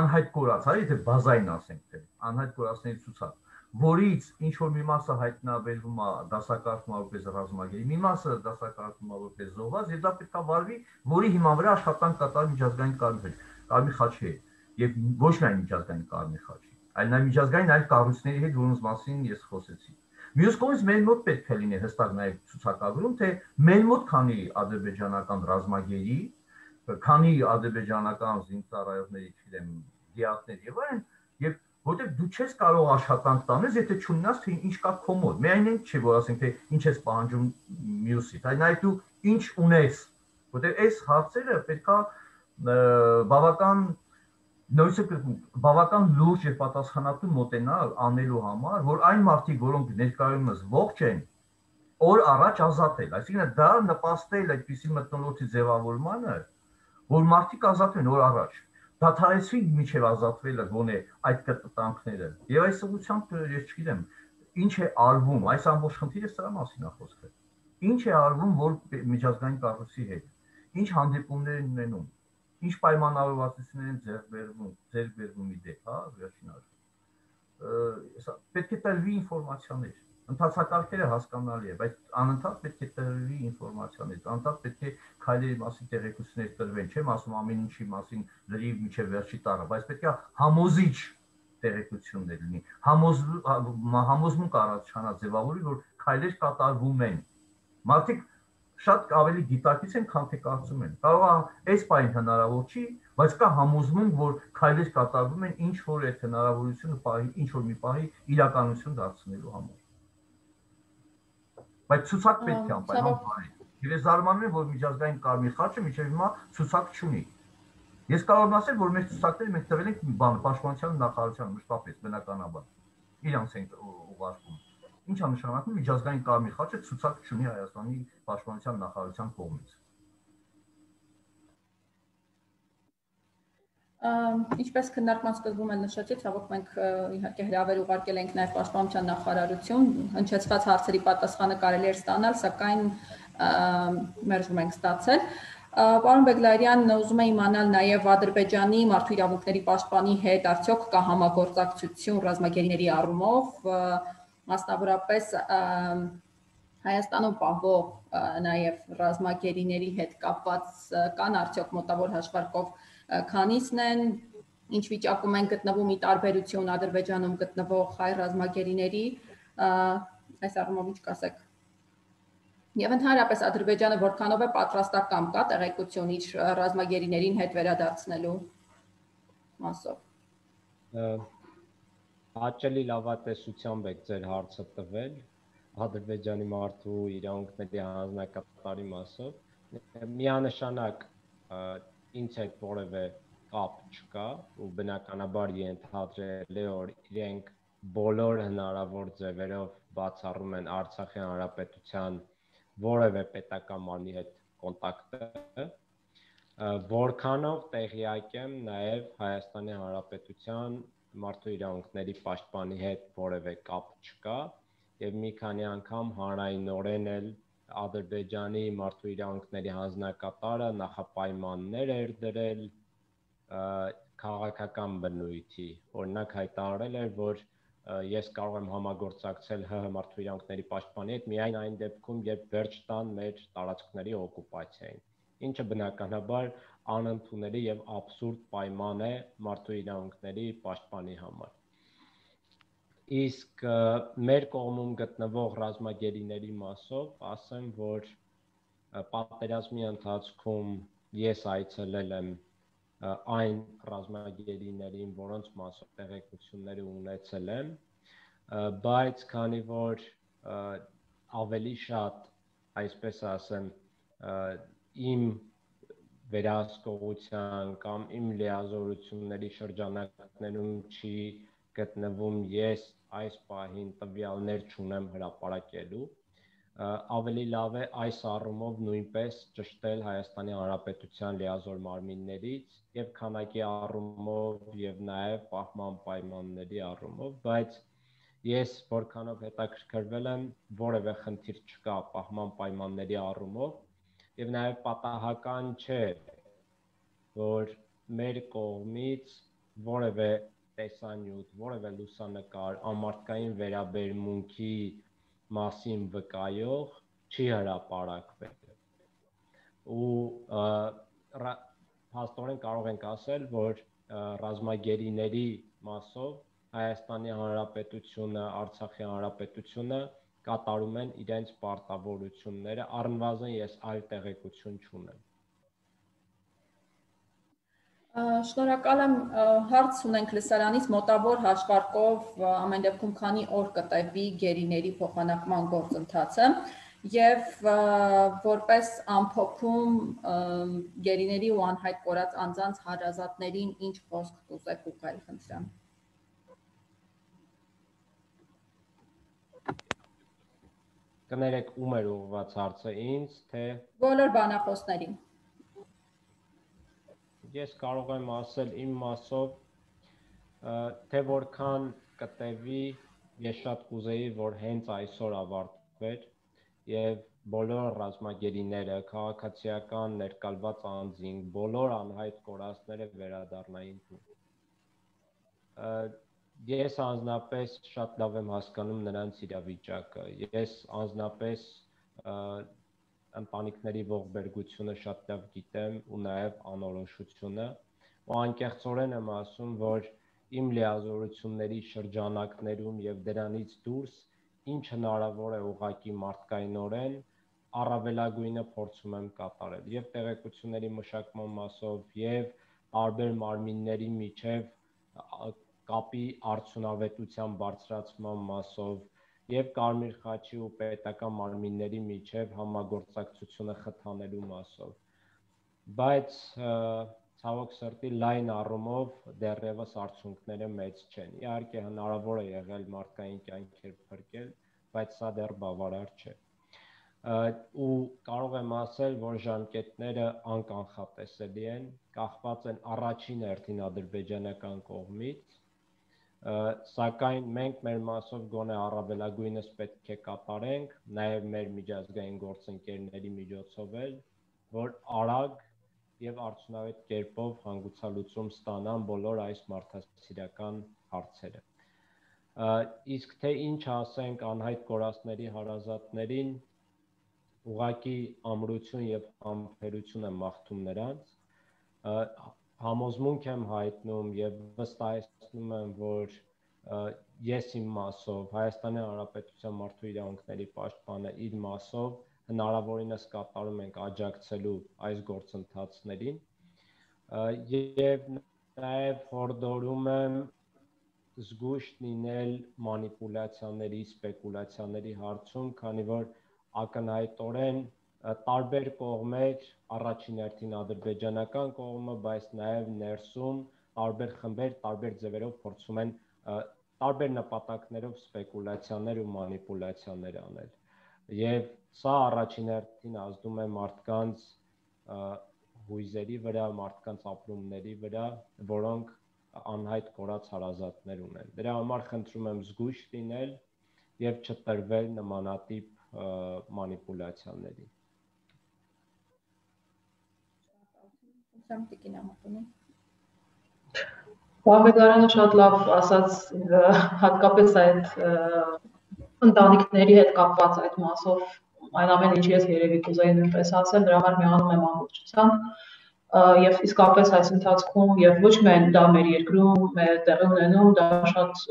անհայտ կորած, հա, եթե բազային ասենք թե անհայտ կորածների ցուցակ, որից ինչ որ մի մասը հայտնաբերվում է դասակարգվում որպես ռազմագերի, մի մասը դասակարգվում է որպես զոհված, եւ դա պետք է վարվի, որի հիման վրա աշխատանք կատարի միջազգային Կարմիր խաչի հետ, եւ ոչ միայն միջազգային Կարմիր խաչի, այլ նաեւ միջազգային այլ կառույցների հետ, որոնց մասին ես խոսեցի։ Մյուս կողմից մեր մոտ պետք է լինի հստակ նաեւ ցուցակագրում, թե մեր մոտ քանի ադրբեջանական ռազմագերի, քանի ադրբեջանական զինծառայողների, չգիտեմ, դիակներ եւ այլն, եւ որտեղ դու չես կարող աշխատանք տանես, եթե չունենաս թե ինչ կա քո մոտ։ Միայն այն չի, որ ասենք թե ինչ ես պահանջում մյուսից, այլ նաեւ դու ինչ ունես, որտեղ այս հարցերը պետքա բավական նույնիսկ բավական լուրջ եւ պատասխանատու մոտենալ անելու համար, որ այն մարդիկ, որոնք ներկայումս ողջ են, օր առաջ ազատել, այսինքն դա նպաստել այդպիսի մթնոլորտի ձևավորմանը, որ մարդիկ ազատվեն օր առաջ, դադարեցվի միջև ազատվելը գոնե այդ կտտանքները։ Եվ այս ուղղությամբ ես չգիտեմ, ինչ է արվում, այս ամբողջ խնդիրը սրա մասին է խոսքը։ Ինչ է արվում որ միջազգային կառույցի հետ, ինչ հանդիպումներ են ունենում, ինչ պայմանավորվածություններ են ձեռք բերվում, ձեռք բերվում իդեպ, հա, վերջին հաշվով։ Պետք է տրվի ինֆորմացիաներ, Ընթացակարգերը հասկանալի է, բայց անընդհատ պետք է տրվի ինֆորմացիաներից, անընդհատ պետք է քայլերի մասին տեղեկություններ տրվեն, չեմ ասում ամեն ինչի մասին լրիվ մինչև վերջի տառը, բայց պետք է համոզիչ տեղեկություններ լինի, համոզմունք առաջանա ձևավորի, որ քայլեր կատարվում են։ Մարդիկ շատ ավելի գիտակից են, քան թե կարծում են։ Կարող է այս պահին հնարավոր չի, բայց կա համոզմունք, որ քայլեր կատարվում են ինչ որ այդ հնարավորությունը պահի, ինչ որ մի պահի իրականություն դարձնելու համար։ Բայց ցուցակ պետք է անպայման բարի։ Եվ ես զարմանում եմ, որ միջազգային Կարմիր խաչը մինչև հիմա ցուցակ չունի։ Ես կարող եմ ասել, որ մեր ցուցակները մենք տվել ենք բան պաշտպանության նախարարության մշտապես բնականաբար։ Իրանց ենք ուղարկում։ Ինչ է նշանակում միջազգային Կարմիր խաչը ցուցակ չունի Հայաստանի պաշտպանության նախարարության կողմից։ Ինչպես քննարկման սկզբում էլ նշեցի, ցավոք մենք իհարկե հրավեր ուղարկել ենք նաև պաշտպանության նախարարություն, հնչեցված հարցերի պատասխանը կարելի էր ստանալ, սակայն մերժում ենք ստացել։ Պարոն Բեգլարյան, ուզում եմ իմանալ նաև Ադրբեջանի մարդու իրավունքների պաշտպանի հետ արդյոք կա համագործակցություն ռազմագերիների առումով, մասնավորապես Հայաստանում պահվող նաև ռազմագերիների հետ կապված կան արդյոք մոտավոր հաշվարկով քանիսն են, ինչ վիճակում են գտնվում ի տարբերություն Ադրբեջանում գտնվող հայ ռազմագերիների, այս առումով ինչ կասեք։ Եվ ընդհանրապես Ադրբեջանը որքանով է պատրաստական, կա տեղեկություն իր ռազմագերիներին հետ վերադարձնելու մասով։ Հաճելի լավատեսությամբ եք ձեր հարցը տվել Ադրբեջանի մարդու իրավունքների հանձնակատարի մասով։ Միանշանակ ինձ հետ որևէ կապ չկա ու բնականաբար ենթադրել է, որ իրենք բոլոր հնարավոր ձևերով բացառում են Արցախի հանրապետության որևէ պետական մարմնի հետ կոնտակտը, որքանով տեղյակ եմ նաև Հայաստանի հանրապետության մարդու իրավունքների պաշտպանի հետ որևէ կապ չկա եւ մի քանի անգամ հանրայնորեն էլ Ադրբեջանի մարդու իրավունքների հանձնակատարը նախապայմաններ էր դրել քաղաքական բնույթի, օրինակ հայտարարել էր, որ ես կարող եմ համագործակցել ՀՀ մարդու իրավունքների պաշտպանի հետ միայն այն դեպքում, երբ վերջ տան մեր տարածքների օկուպացիային, ինչը բնականաբար անընդունելի եւ աբսուրդ պայման է մարդու իրավունքների պաշտպանի համար։ Իսկ մեր կողմում գտնվող ռազմագերիների մասով ասեմ, որ պատերազմի ընթացքում ես այցելել եմ այն ռազմագերիներին, որոնց մասով տեղեկությունները ունեցել եմ, բայց քանի որ ավելի շատ, այսպես ասեմ, իմ վերահսկողության կամ իմ լիազորությունների շրջանակներում չի գտնվում, ես այս պահին տվյալներ չունեմ հրապարակելու, ավելի լավ է այս առումով նույնպես ճշտել Հայաստանի Հանրապետության լիազոր մարմիններից եւ քանակի առումով եւ նաեւ պահման պայմանների առումով, բայց ես որքանով հետաքրքրվել եմ, որևէ խնդիր չկա պահման պայմանների առումով եւ նաեւ պատահական չէ, որ մեր կողմից որևէ տեսանյութ, որևէ լուսանկար ամարտկային վերաբերմունքի մասին վկայող չի հրապարակվել ու հաստորեն կարող ենք ասել, որ ռազմագերիների մասով Հայաստանի Հանրապետությունը, Արցախի Հանրապետությունը կատարում են իրենց պարտավորությունները, առնվազն ես այլ տեղեկություն չունեմ։ Շնորհակալ եմ, հարց ունենք լսարանից, մոտավոր հաշվարկով ամեն դեպքում քանի օր կտևի գերիների փոխանակման գործընթացը եւ որպես ամփոփում գերիների ու անհայտ կորած անձանց հարազատներին ինչ խոսք կուզեք ուղղել, խնդրեմ։ Կներեք, ում էր ուղղված հարցը, ինձ, թե բոլոր բանախոսներին։ Ես կարող եմ ասել իմ մասով, թե որքան կտևի, ես շատ կուզեի, որ հենց այսօր ավարտվեր եւ բոլոր ռազմագերիները, քաղաքացիական ներկալված անձինք, բոլոր անհայտ կորածները վերադառնային տուն։ Ես անձնապես շատ լավ եմ հասկանում նրանց իրավիճակը։ Ես անձնապես ընտանիքների ողբերգությունը շատ լավ գիտեմ ու նաև անորոշությունը, ու անկեղծորեն եմ ասում, որ իմ լիազորությունների շրջանակներում եւ դրանից դուրս ինչ հնարավոր է ուղղակի մարդկայնորեն առավելագույնը փորձում եմ կատարել եւ տեղեկությունների մշակման մասով եւ տարբեր մարմինների միջև կապի արդյունավետության բարձրացման մասով եւ Կարմիր խաչի ու պետական մարմինների միջև համագործակցությունը խթանելու մասով, բայց ցավոք սրտի լայն առումով դեռևս արդյունքները մեծ չեն։ Իհարկե հնարավոր է եղել մարդկային կյանքեր փրկել, բայց սա դեռ բավարար չէ։ Ու կարող եմ ասել, որ ժամկետները անկանխատեսելի են, կախված են առաջին հերթին ադրբեջանական կողմից, սակայն մենք մեր մասով գոնե առավելագույնս պետք է կատարենք, նաև մեր միջազգային գործընկերների միջոցով էլ, որ արագ եւ արդյունավետ կերպով հանգուցալուծում ստանան բոլոր այս մարդասիրական հարցերը։ Իսկ թե ինչ ասենք անհայտ կորածների հարազատներին, ուղղակի ամրություն եւ համբերություն եմ մաղթում նրանց, համոզմունք եմ հայտնում եւ վստահեցնում եմ, որ ես իմ մասով, Հայաստանի Հանրապետության մարդու իրավունքների պաշտպանը իր մասով հնարավորինս կատարում ենք աջակցելու այս գործընթացներին եւ նաեւ հորդորում եմ զգույշ լինել մանիպուլյացիաների, սպեկուլյացիաների հարցում, քանի որ ակնհայտորեն տարբեր կողմեր, առաջին հերթին ադրբեջանական կողմը, բայց նաև ներսում տարբեր խմբեր, տարբեր ձևերով փորձում են տարբեր նպատակներով սպեկուլյացիաներ ու մանիպուլյացիաներ անել։ Եվ սա առաջին հերթին ազդում է մարդկանց հույզերի վրա, մարդկանց ապրումների վրա, որոնք անհայտ կորած հարազատներ ունեն։ Դրա համար խնդրում եմ զգույշ լինել եւ չտրվել նմանատիպ մանիպուլյացիաների։ Բաղեդարանը շատ լավ ասաց, հատկապես այդ ընտանիքների հետ կապված այդ մասով, այն ամեն ինչ ես երևի կուզեի նույնպես ասել, դրա համար միանում եմ ամբողջությամբ եւ իսկապես այս ընթացքում եւ ոչ միայն դա մեր երկրում է տեղի ունենում, դա շատ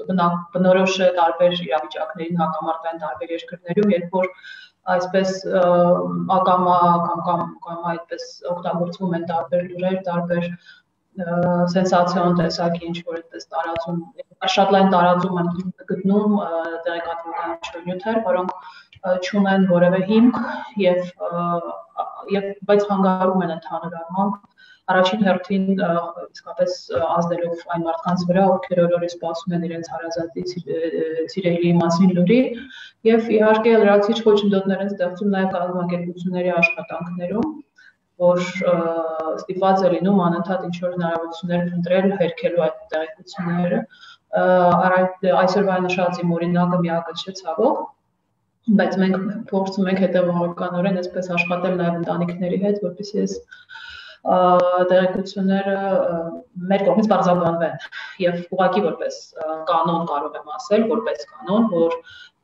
բնորոշ է տարբեր իրավիճակներին, հակամարտային տարբեր երկրներում, երբ որ այսպես ակամա կամ կամ կամ այդպես օգտագործվում են տարբեր լուրեր, տարբեր սենսացիոն տեսակի ինչ որ այդպես տարածում, շատ լայն տարածում են գտնում տեղեկատվական նյութեր, որոնք չունեն որևէ հիմք եւ եւ բայց հանգարում են ընդհանուր առմամբ առաջին հերթին իսկապես ազդելով այն մարդկանց վրա, ովքեր օրորի սպասում են իրենց հարազատի սիրելի մասին լուրի եւ իհարկե լրացիչ խոչընդոտներ են ստեղծում նաեւ կազմակերպությունների աշխատանքներում, որ ստիպված է լինում անընդհատ ինչ-որ հնարավորություններ փնտրել, հերքելու այդ տեղեկությունները։ Այսօրվա նշած իմ օրինակը միակը չէ ցավոք, բայց մենք փորձում ենք հետևողականորեն այսպես աշխատել նաև ընտանիքների հետ, որպեսզի այս տեղեկությունները մեր կողմից բարձրաբանվեն եւ ուղղակի որպես կանոն կարող եմ ասել, որպես կանոն, որ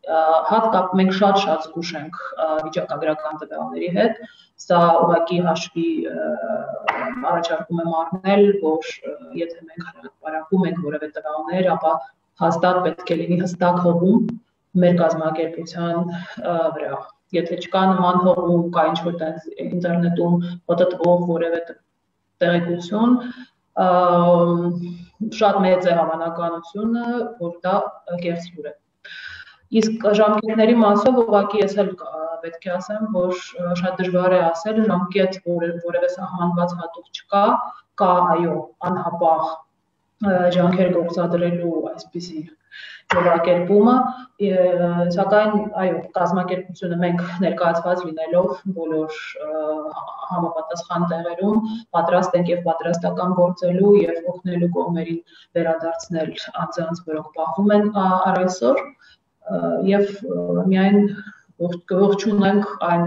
հատկապես մենք շատ-շատ զգուշ ենք վիճակագրական տվյալների հետ, սա ուղղակի հաշվի առաջարկում եմ առնել, որ եթե մենք հրապարակում ենք որևէ տվյալներ, ապա հաստատ պետք է լինի հստակ հողում մեր կազմակերպության վրա։ Եթե չկա նման հողում, կա ինչ-որ տենց ինտերնետում պատտվող որևէ տեղեկություն, շատ մեծ է հավանականությունը, որ դա կեղծ լուր է։ Իսկ ժամկետների մասով ուղղակի ես էլ պետք է ասեմ, որ շատ դժվար է ասել, ժամկետ որևէ սահմանված հատուկ չկա, կա այո, անհապաղ ջանքեր գործադրելու այսպիսի ձևակերպումը, սակայն այո, կազմակերպությունը մենք ներկայացված լինելով բոլոր համապատասխան տեղերում պատրաստ ենք եւ պատրաստական գործելու եւ օգնելու կողմերին վերադարձնել անձանց, որոնք պահվում են առ այսօր եւ միայն ողջունենք այն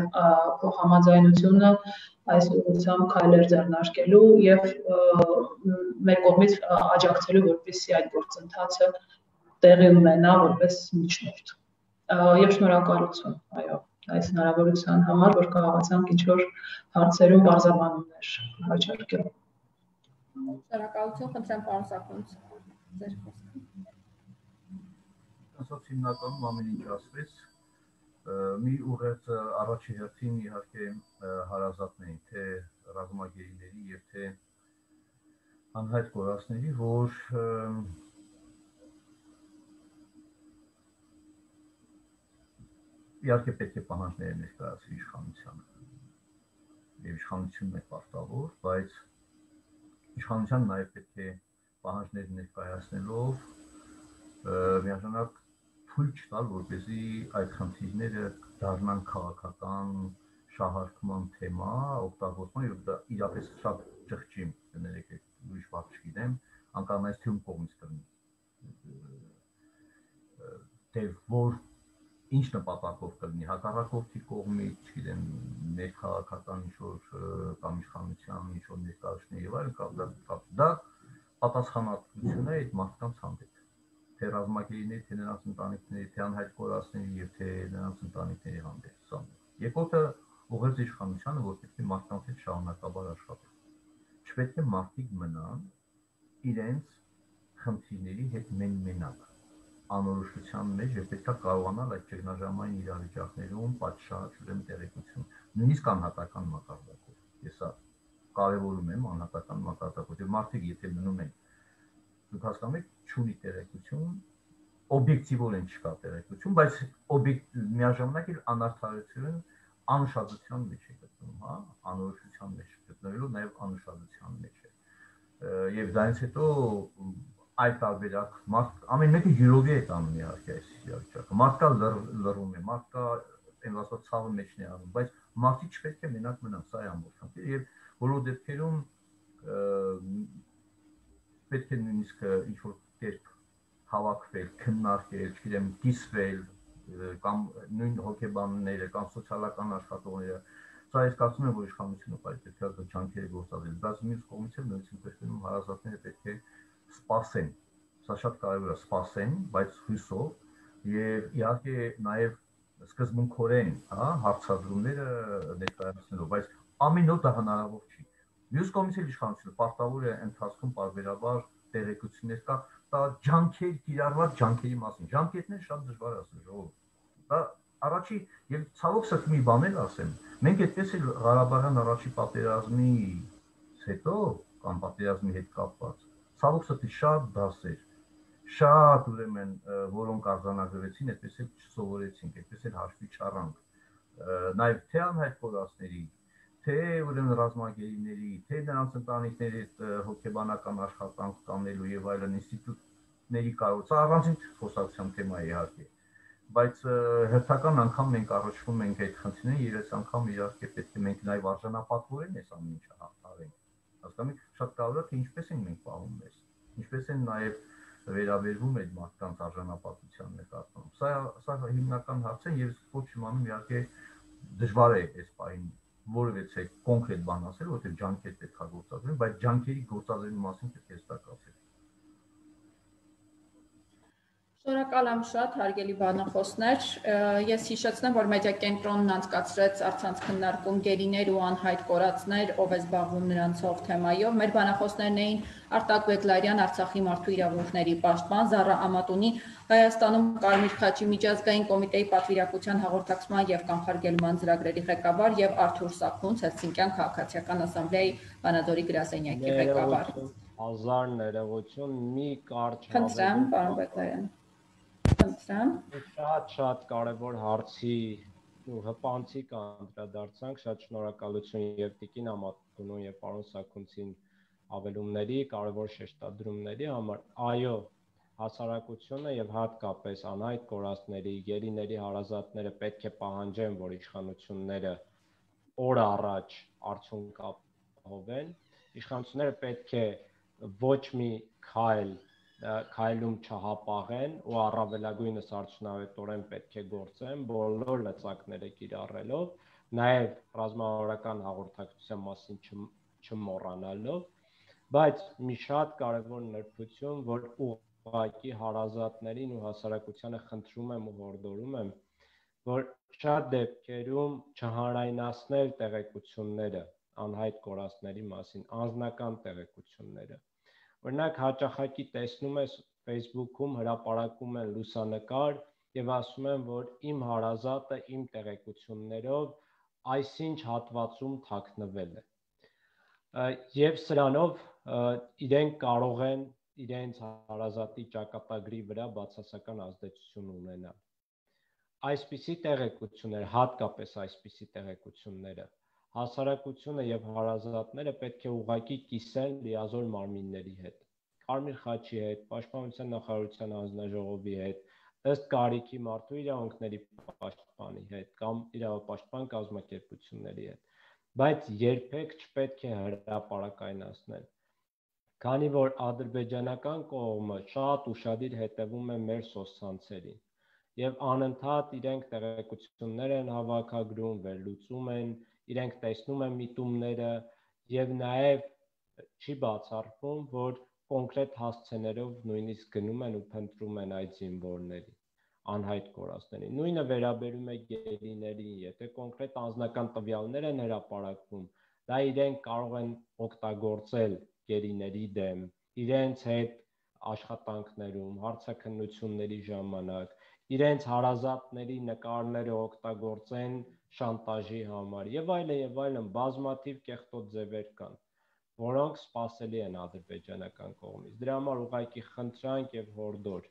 համաձայնությունը այս ուղղությամբ քայլեր ձեռնարկելու եւ մեր կողմից աջակցելու, որպեսզի այդ գործընթացը տեղի ունենա որպես միջնորդ։ Եվ շնորհակալություն, այո, այս հնարավորության համար, որ կարողացանք ինչ-որ հարցերում բարձրաբանումներ հաջորդել։ Շնորհակալություն, խնդրեմ պարոն Սաքունց, ձեր խոսքը։ Ասած հիմնականում ամեն ինչ ասվեց, մի ուղերձ առաջի հերթին իհարկե հարազատներին, թե ռազմագերիների եւ թե անհայտ կորածների, որ իհարկե պետք է պահանջները ներկայացվի իշխանությանը եւ իշխանությունն է պարտավոր, բայց իշխանության նաեւ պետք է պահանջներ ներկայացնելով միաժամանակ թույլ չտալ, որպեսզի այդ խնդիրները դառնան քաղաքական շահարկման թեմա, օգտագործման եւ դա իրապես շատ ճղճի, կներեք, ուրիշ բառ չգիտեմ, անկամենայից թյուն կողմից կլինի։ Թե որ ինչ նպատակով կլինի, հակառակորդի կողմից, չգիտեմ, ներքաղաքական ինչ-որ կամ իշխանության ինչ-որ ներկայացնի եւ այլն, կամ դա պատասխանատվություն է այդ մարդկանց հանդեպ, թե ռազմագերիների, թե նրանց ընտանիքների, թե անհայտ կորածների եւ թե նրանց ընտանիքների հանդեպ։ Երկրորդը ուղերձ իշխանությանը, որ պետք է մարդկանց հետ շարունակաբար աշխատել։ Չպետք է մարդիկ մնան իրենց խնդիրների հետ մեն-մենակ անորոշության մեջ եւ պետք է կարողանալ այդ ճգնաժամային իրավիճակներում պատշաճ ուրեմն տեղեկություն, նույնիսկ անհատական մակարդակով։ Ես սա կարևորում եմ անհատական մակարդակով, եւ մարդիկ եթե մնում են, դուք հասկանում եք, չունի տեղեկություն, օբյեկտիվորեն չկա տեղեկություն, բայց օբյեկտ միաժամանակ էլ անարդարություն անուշադրության մեջ է գտնվում, հա, անորոշության մեջ գտնվելով նաեւ անուշադրության մեջ է։ Եվ դրանից հետո այլ տարբերակ մարդ ամեն մեկը յուրովի է տանում իհարկե այս իրավիճակը։ Մարդկա լռում է, մարդկա այն ասած ցավը մեջն է անում, բայց մարդիկ չպետք է մենակ մնան, սա է ամբողջ խնդիրը եւ բոլոր դեպքերում պետք է նույնիսկ ինչ-որ կերպ հավաքվել, քննարկել, չգիտեմ, կիսվել կամ նույն հոգեբանները կամ սոցիալական աշխատողները, սա ես կարծում եմ, որ իշխանությունը պետք է ջանքերը գործադրել, բայց մյուս կողմից էլ նույնիսկ տեսնում հարազատները պետք է սպասեն, սա շատ կարևոր է, սպասեն, բայց հույսով եւ իհարկե նաեւ սկզբունքորեն, հա, հարցադրումները ներկայացնելով, բայց ամեն օր դա հնարավոր չի։ Մյուս կողմից էլ իշխանությունը պարտավոր է ընթացքում պարբերաբար տեղեկություններ կա, դա ջանքեր, կիրառված ջանքերի մասին։ Ջանքերն շատ դժվար է ասել, ժողովուրդ։ Դա առաջի եւ ցավոք սրտի մի բան էլ ասեմ, մենք այդպես էլ Ղարաբաղյան առաջի պատերազմից հետո կամ պատերազմի հետ կապված ցավոք սրտի շատ դասեր, շատ ուրեմն որոնք արձանագրվեցին, այդպես էլ չսովորեցինք, այդպես էլ հաշվի չառանք։ Նաեւ թե անհայտ կորածների, թե ուրեմն ռազմագերիների, թե նրանց ընտանիքների հոգեբանական աշխատանք կանելու եւ այլն ինստիտուտների կառուցա առանցին խոսակցության թեմա է իհարկե, բայց հերթական անգամ մենք առնչվում ենք այդ խնդիրներին եւ այս անգամ իհարկե պետք է մենք նաեւ արժանապատվորեն այս ամեն ինչը հաղթարենք։ Հասկանում եք, շատ կարևոր է թե ինչպես ենք մենք պահում մեզ, ինչպես են նաեւ վերաբերվում այդ մարդկանց արժանապատվության նկատմամբ։ Սա սա հիմնական հարց է եւ ոչ իմանում իհարկե դժվար է այս պահին որևէ կոնկրետ բան ասել, որտեղ ջանքեր պետք է գործադրեն, բայց ջանքերի գործադրելու մասին պետք է հստակ ասել։ Շնորհակալ եմ շատ, հարգելի բանախոսներ։ Ես հիշեցնեմ, որ մեդիա կենտրոնն անցկացրեց առցանց քննարկում գերիներ ու անհայտ կորածներ, ով է զբաղվում նրանցով թեմայով։ Մեր բանախոսներն էին Արտակ Բեգլարյան, Արցախի մարդու իրավունքների պաշտպան, Զառա Ամատունի, Հայաստանում Կարմիր խաչի միջազգային կոմիտեի պատվիրակության հաղորդակցման եւ կանխարգելման ծրագրերի ղեկավար եւ Արթուր Սաքունց, Հելսինկյան քաղաքացիական ասամբլեայի Վանադորի գրասենյակի ղեկավար։ Հազար ներողություն, մի կարճ Խնդրեմ, պարոն Բեգլարյան։ Խնդրեմ։ Շատ-շատ կարևոր հարցի ու հպանցիկ անդրադարձանք, շատ շնորհակալություն եւ Տիկին Ամատունուն եւ պարոն Սաքունցին ավելումների, կարևոր շեշտադրումների համար։ Այո, հասարակությունը եւ հատկապես անհայտ կորածների, գերիների հարազատները պետք է պահանջեն, որ իշխանությունները օր առաջ արդյունք ապահովեն։ Իշխանությունները պետք է ոչ մի քայլ քայլում չհապաղեն ու առավելագույնս արդյունավետորեն պետք է գործեն բոլոր լծակները կիրառելով, նաև ռազմավարական հաղորդակցության մասին չմոռանալով, բայց մի շատ կարևոր նրբություն, որ ուղղակի հարազատներին ու հասարակությանը խնդրում եմ ու հորդորում եմ, որ շատ դեպքերում չհանրայնացնել տեղեկությունները անհայտ կորածների մասին, անձնական տեղեկությունները։ Օրինակ հաճախակի տեսնում ես Facebook-ում հրապարակում են լուսանկար եւ ասում են, որ իմ հարազատը իմ տեղեկություններով այսինչ հատվածում թաքնվել է։ Եվ սրանով իրենք կարող են իրենց հարազատի ճակատագրի վրա բացասական ազդեցություն ունենալ։ Այսպիսի տեղեկությունները, հատկապես այսպիսի տեղեկությունները, հասարակությունը եւ հարազատները պետք է ուղղակի կիսեն լիազոր մարմինների հետ, Կարմիր խաչի հետ, Պաշտպանության նախարարության հանձնաժողովի հետ, ըստ կարիքի մարդու իրավունքների պաշտպանի հետ կամ իրավապաշտպան կազմակերպությունների հետ, բայց երբեք չպետք է հրապարակայնացնել, քանի որ ադրբեջանական կողմը շատ ուշադիր հետևում է մեր սոցցանցերին եւ անընդհատ իրենք տեղեկություններ են հավաքագրում, վերլուծում են, իրենք տեսնում են միտումները եւ նաեւ չի բացառվում, որ կոնկրետ հասցեներով նույնիսկ գնում են ու փնտրում են այդ զինվորներին, անհայտ կորածներին։ Նույնը վերաբերում է գերիներին, եթե կոնկրետ անձնական տվյալներ են հրապարակվում, դա իրենք կարող են օգտագործել գերիների դեմ, իրենց հետ աշխատանքներում, հարցաքննությունների ժամանակ, իրենց հարազատների նկարները օգտագործեն շանտաժի համար եւ այլն եւ այլն բազմաթիվ կեղտոտ ձևեր կան, որոնք սպասելի են ադրբեջանական կողմից։ Դրա համար ուղղակի խնդրանք եւ հորդոր,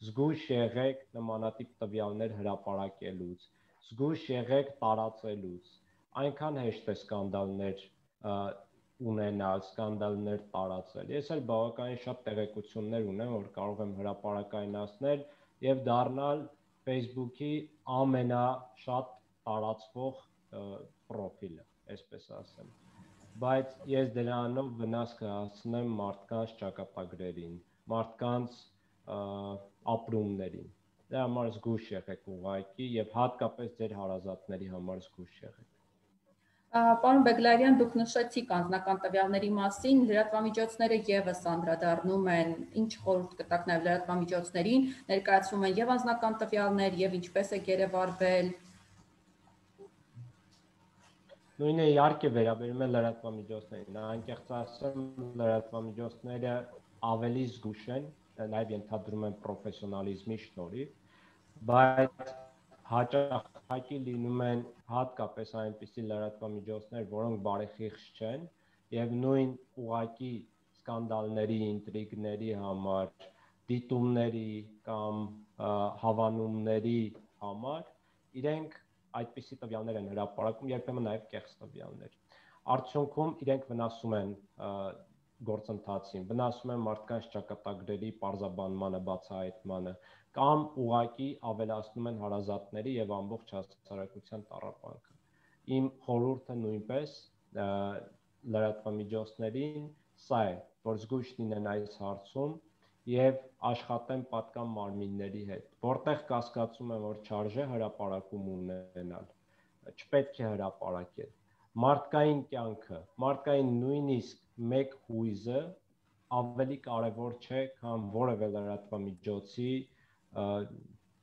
զգույշ եղեք նմանատիպ տվյալներ հրապարակելուց, զգույշ եղեք տարածելուց, այնքան հեշտ է սկանդալներ ունենալ, սկանդալներ տարածել։ Ես էլ բավականին շատ տեղեկություններ ունեմ, որ կարող եմ հրապարակայնացնել եւ դառնալ Facebook-ի ամենաշատ տարածվող պրոֆիլը, այսպես ասեմ։ Բայց ես դրանով վնաս կհասցնեմ մարդկանց ճակատագրերին, մարդկանց ապրումներին։ Դրա համար զգույշ եղեք ուղղակի եւ հատկապես ձեր հարազատների համար զգույշ եղեք։ Պարոն Բեգլարյան, դուք նշեցիք անձնական տվյալների մասին, լրատվամիջոցները եւս անդրադառնում են, ինչ խորհուրդ կտաք նաեւ լրատվամիջոցներին, ներկայացվում են եւ անձնական տվյալներ եւ ինչպես է գերեվարվել։ Նույնը իհարկե վերաբերում է լրատվամիջոցներին, անկեղծ ասեմ, լրատվամիջոցները ավելի զգույշ են, նաեւ ենթադրում են պրոֆեսիոնալիզմի շնորհիվ, բայց հաճախակի լինում են հատկապես այնպիսի լրատվամիջոցներ, որոնք բարեխիղճ չեն եւ նույն ուղակի սկանդալների, ինտրիգների համար, դիտումների կամ հավանումների համար իրենք այդպիսի տվյալներ են հրապարակում, երբեմն նաեւ կեղծ տվյալներ։ Արդյունքում իրենք վնասում են գործընթացին, վնասում են մարդկանց ճակատագրերի պարզաբանմանը, բացահայտմանը կամ ուղղակի ավելացնում են հարազատների եւ ամբողջ հասարակության տառապանքը։ Իմ խորհուրդը նույնպես լրատվամիջոցներին սա է, որ զգույշ լինեն այս հարցում եւ աշխատեն պատկան մարմինների հետ, որտեղ կասկածում են, որ չարժե հրապարակում ունենալ, չպետք է հրապարակել։ Մարդկային կյանքը, մարդկային նույնիսկ մեկ հույզը ավելի կարևոր չէ, քան որևէ լրատվամիջոցի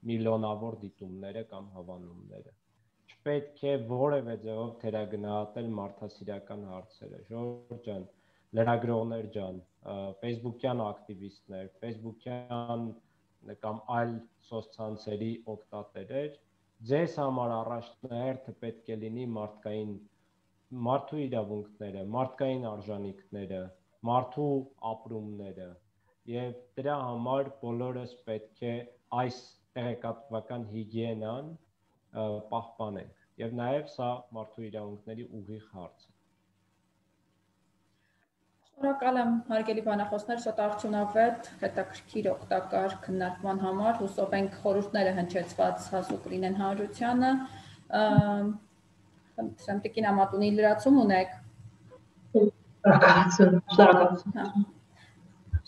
միլիոնավոր դիտումները կամ հավանումները։ Չպետք է որևէ ձևով թերագնահատել մարդասիրական հարցերը։ Ժողովուրդ ջան, լրագրողներ ջան, Facebook-յան ակտիվիստներ, Facebook-յան կամ այլ սոցցանցերի օգտատերեր, ձեզ համար առաջնահերթը պետք է լինի մարդկային մարդու իրավունքները, մարդկային արժանինքները, մարդու ապրումները եւ դրա համար բոլորս պետք է այս տեղեկատվական հիգիենան պահպանենք եւ նաեւ սա մարդու իրավունքների ուղիղ հարց է։ Շնորհակալ եմ հարգելի բանախոսներ, շատ արդյունավետ, հետաքրքիր, օգտակար քննարկման համար, հուսով ենք խորհուրդները հնչեցված հասու կլինեն հանրությանը։ Խնդրեմ Տիկին Ամատունի լրացում ունեք։ Շնորհակալություն։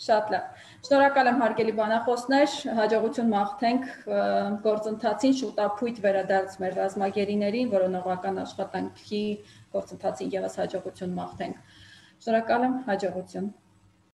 Շատ լավ։ Շնորհակալ եմ հարգելի բանախոսներ, հաջողություն մաղթենք գործընթացին, շուտապույտ վերադարձ մեր ռազմագերիներին, որոնողական աշխատանքի գործընթացին եւս հաջողություն մաղթենք։ Շնորհակալ եմ, հաջողություն։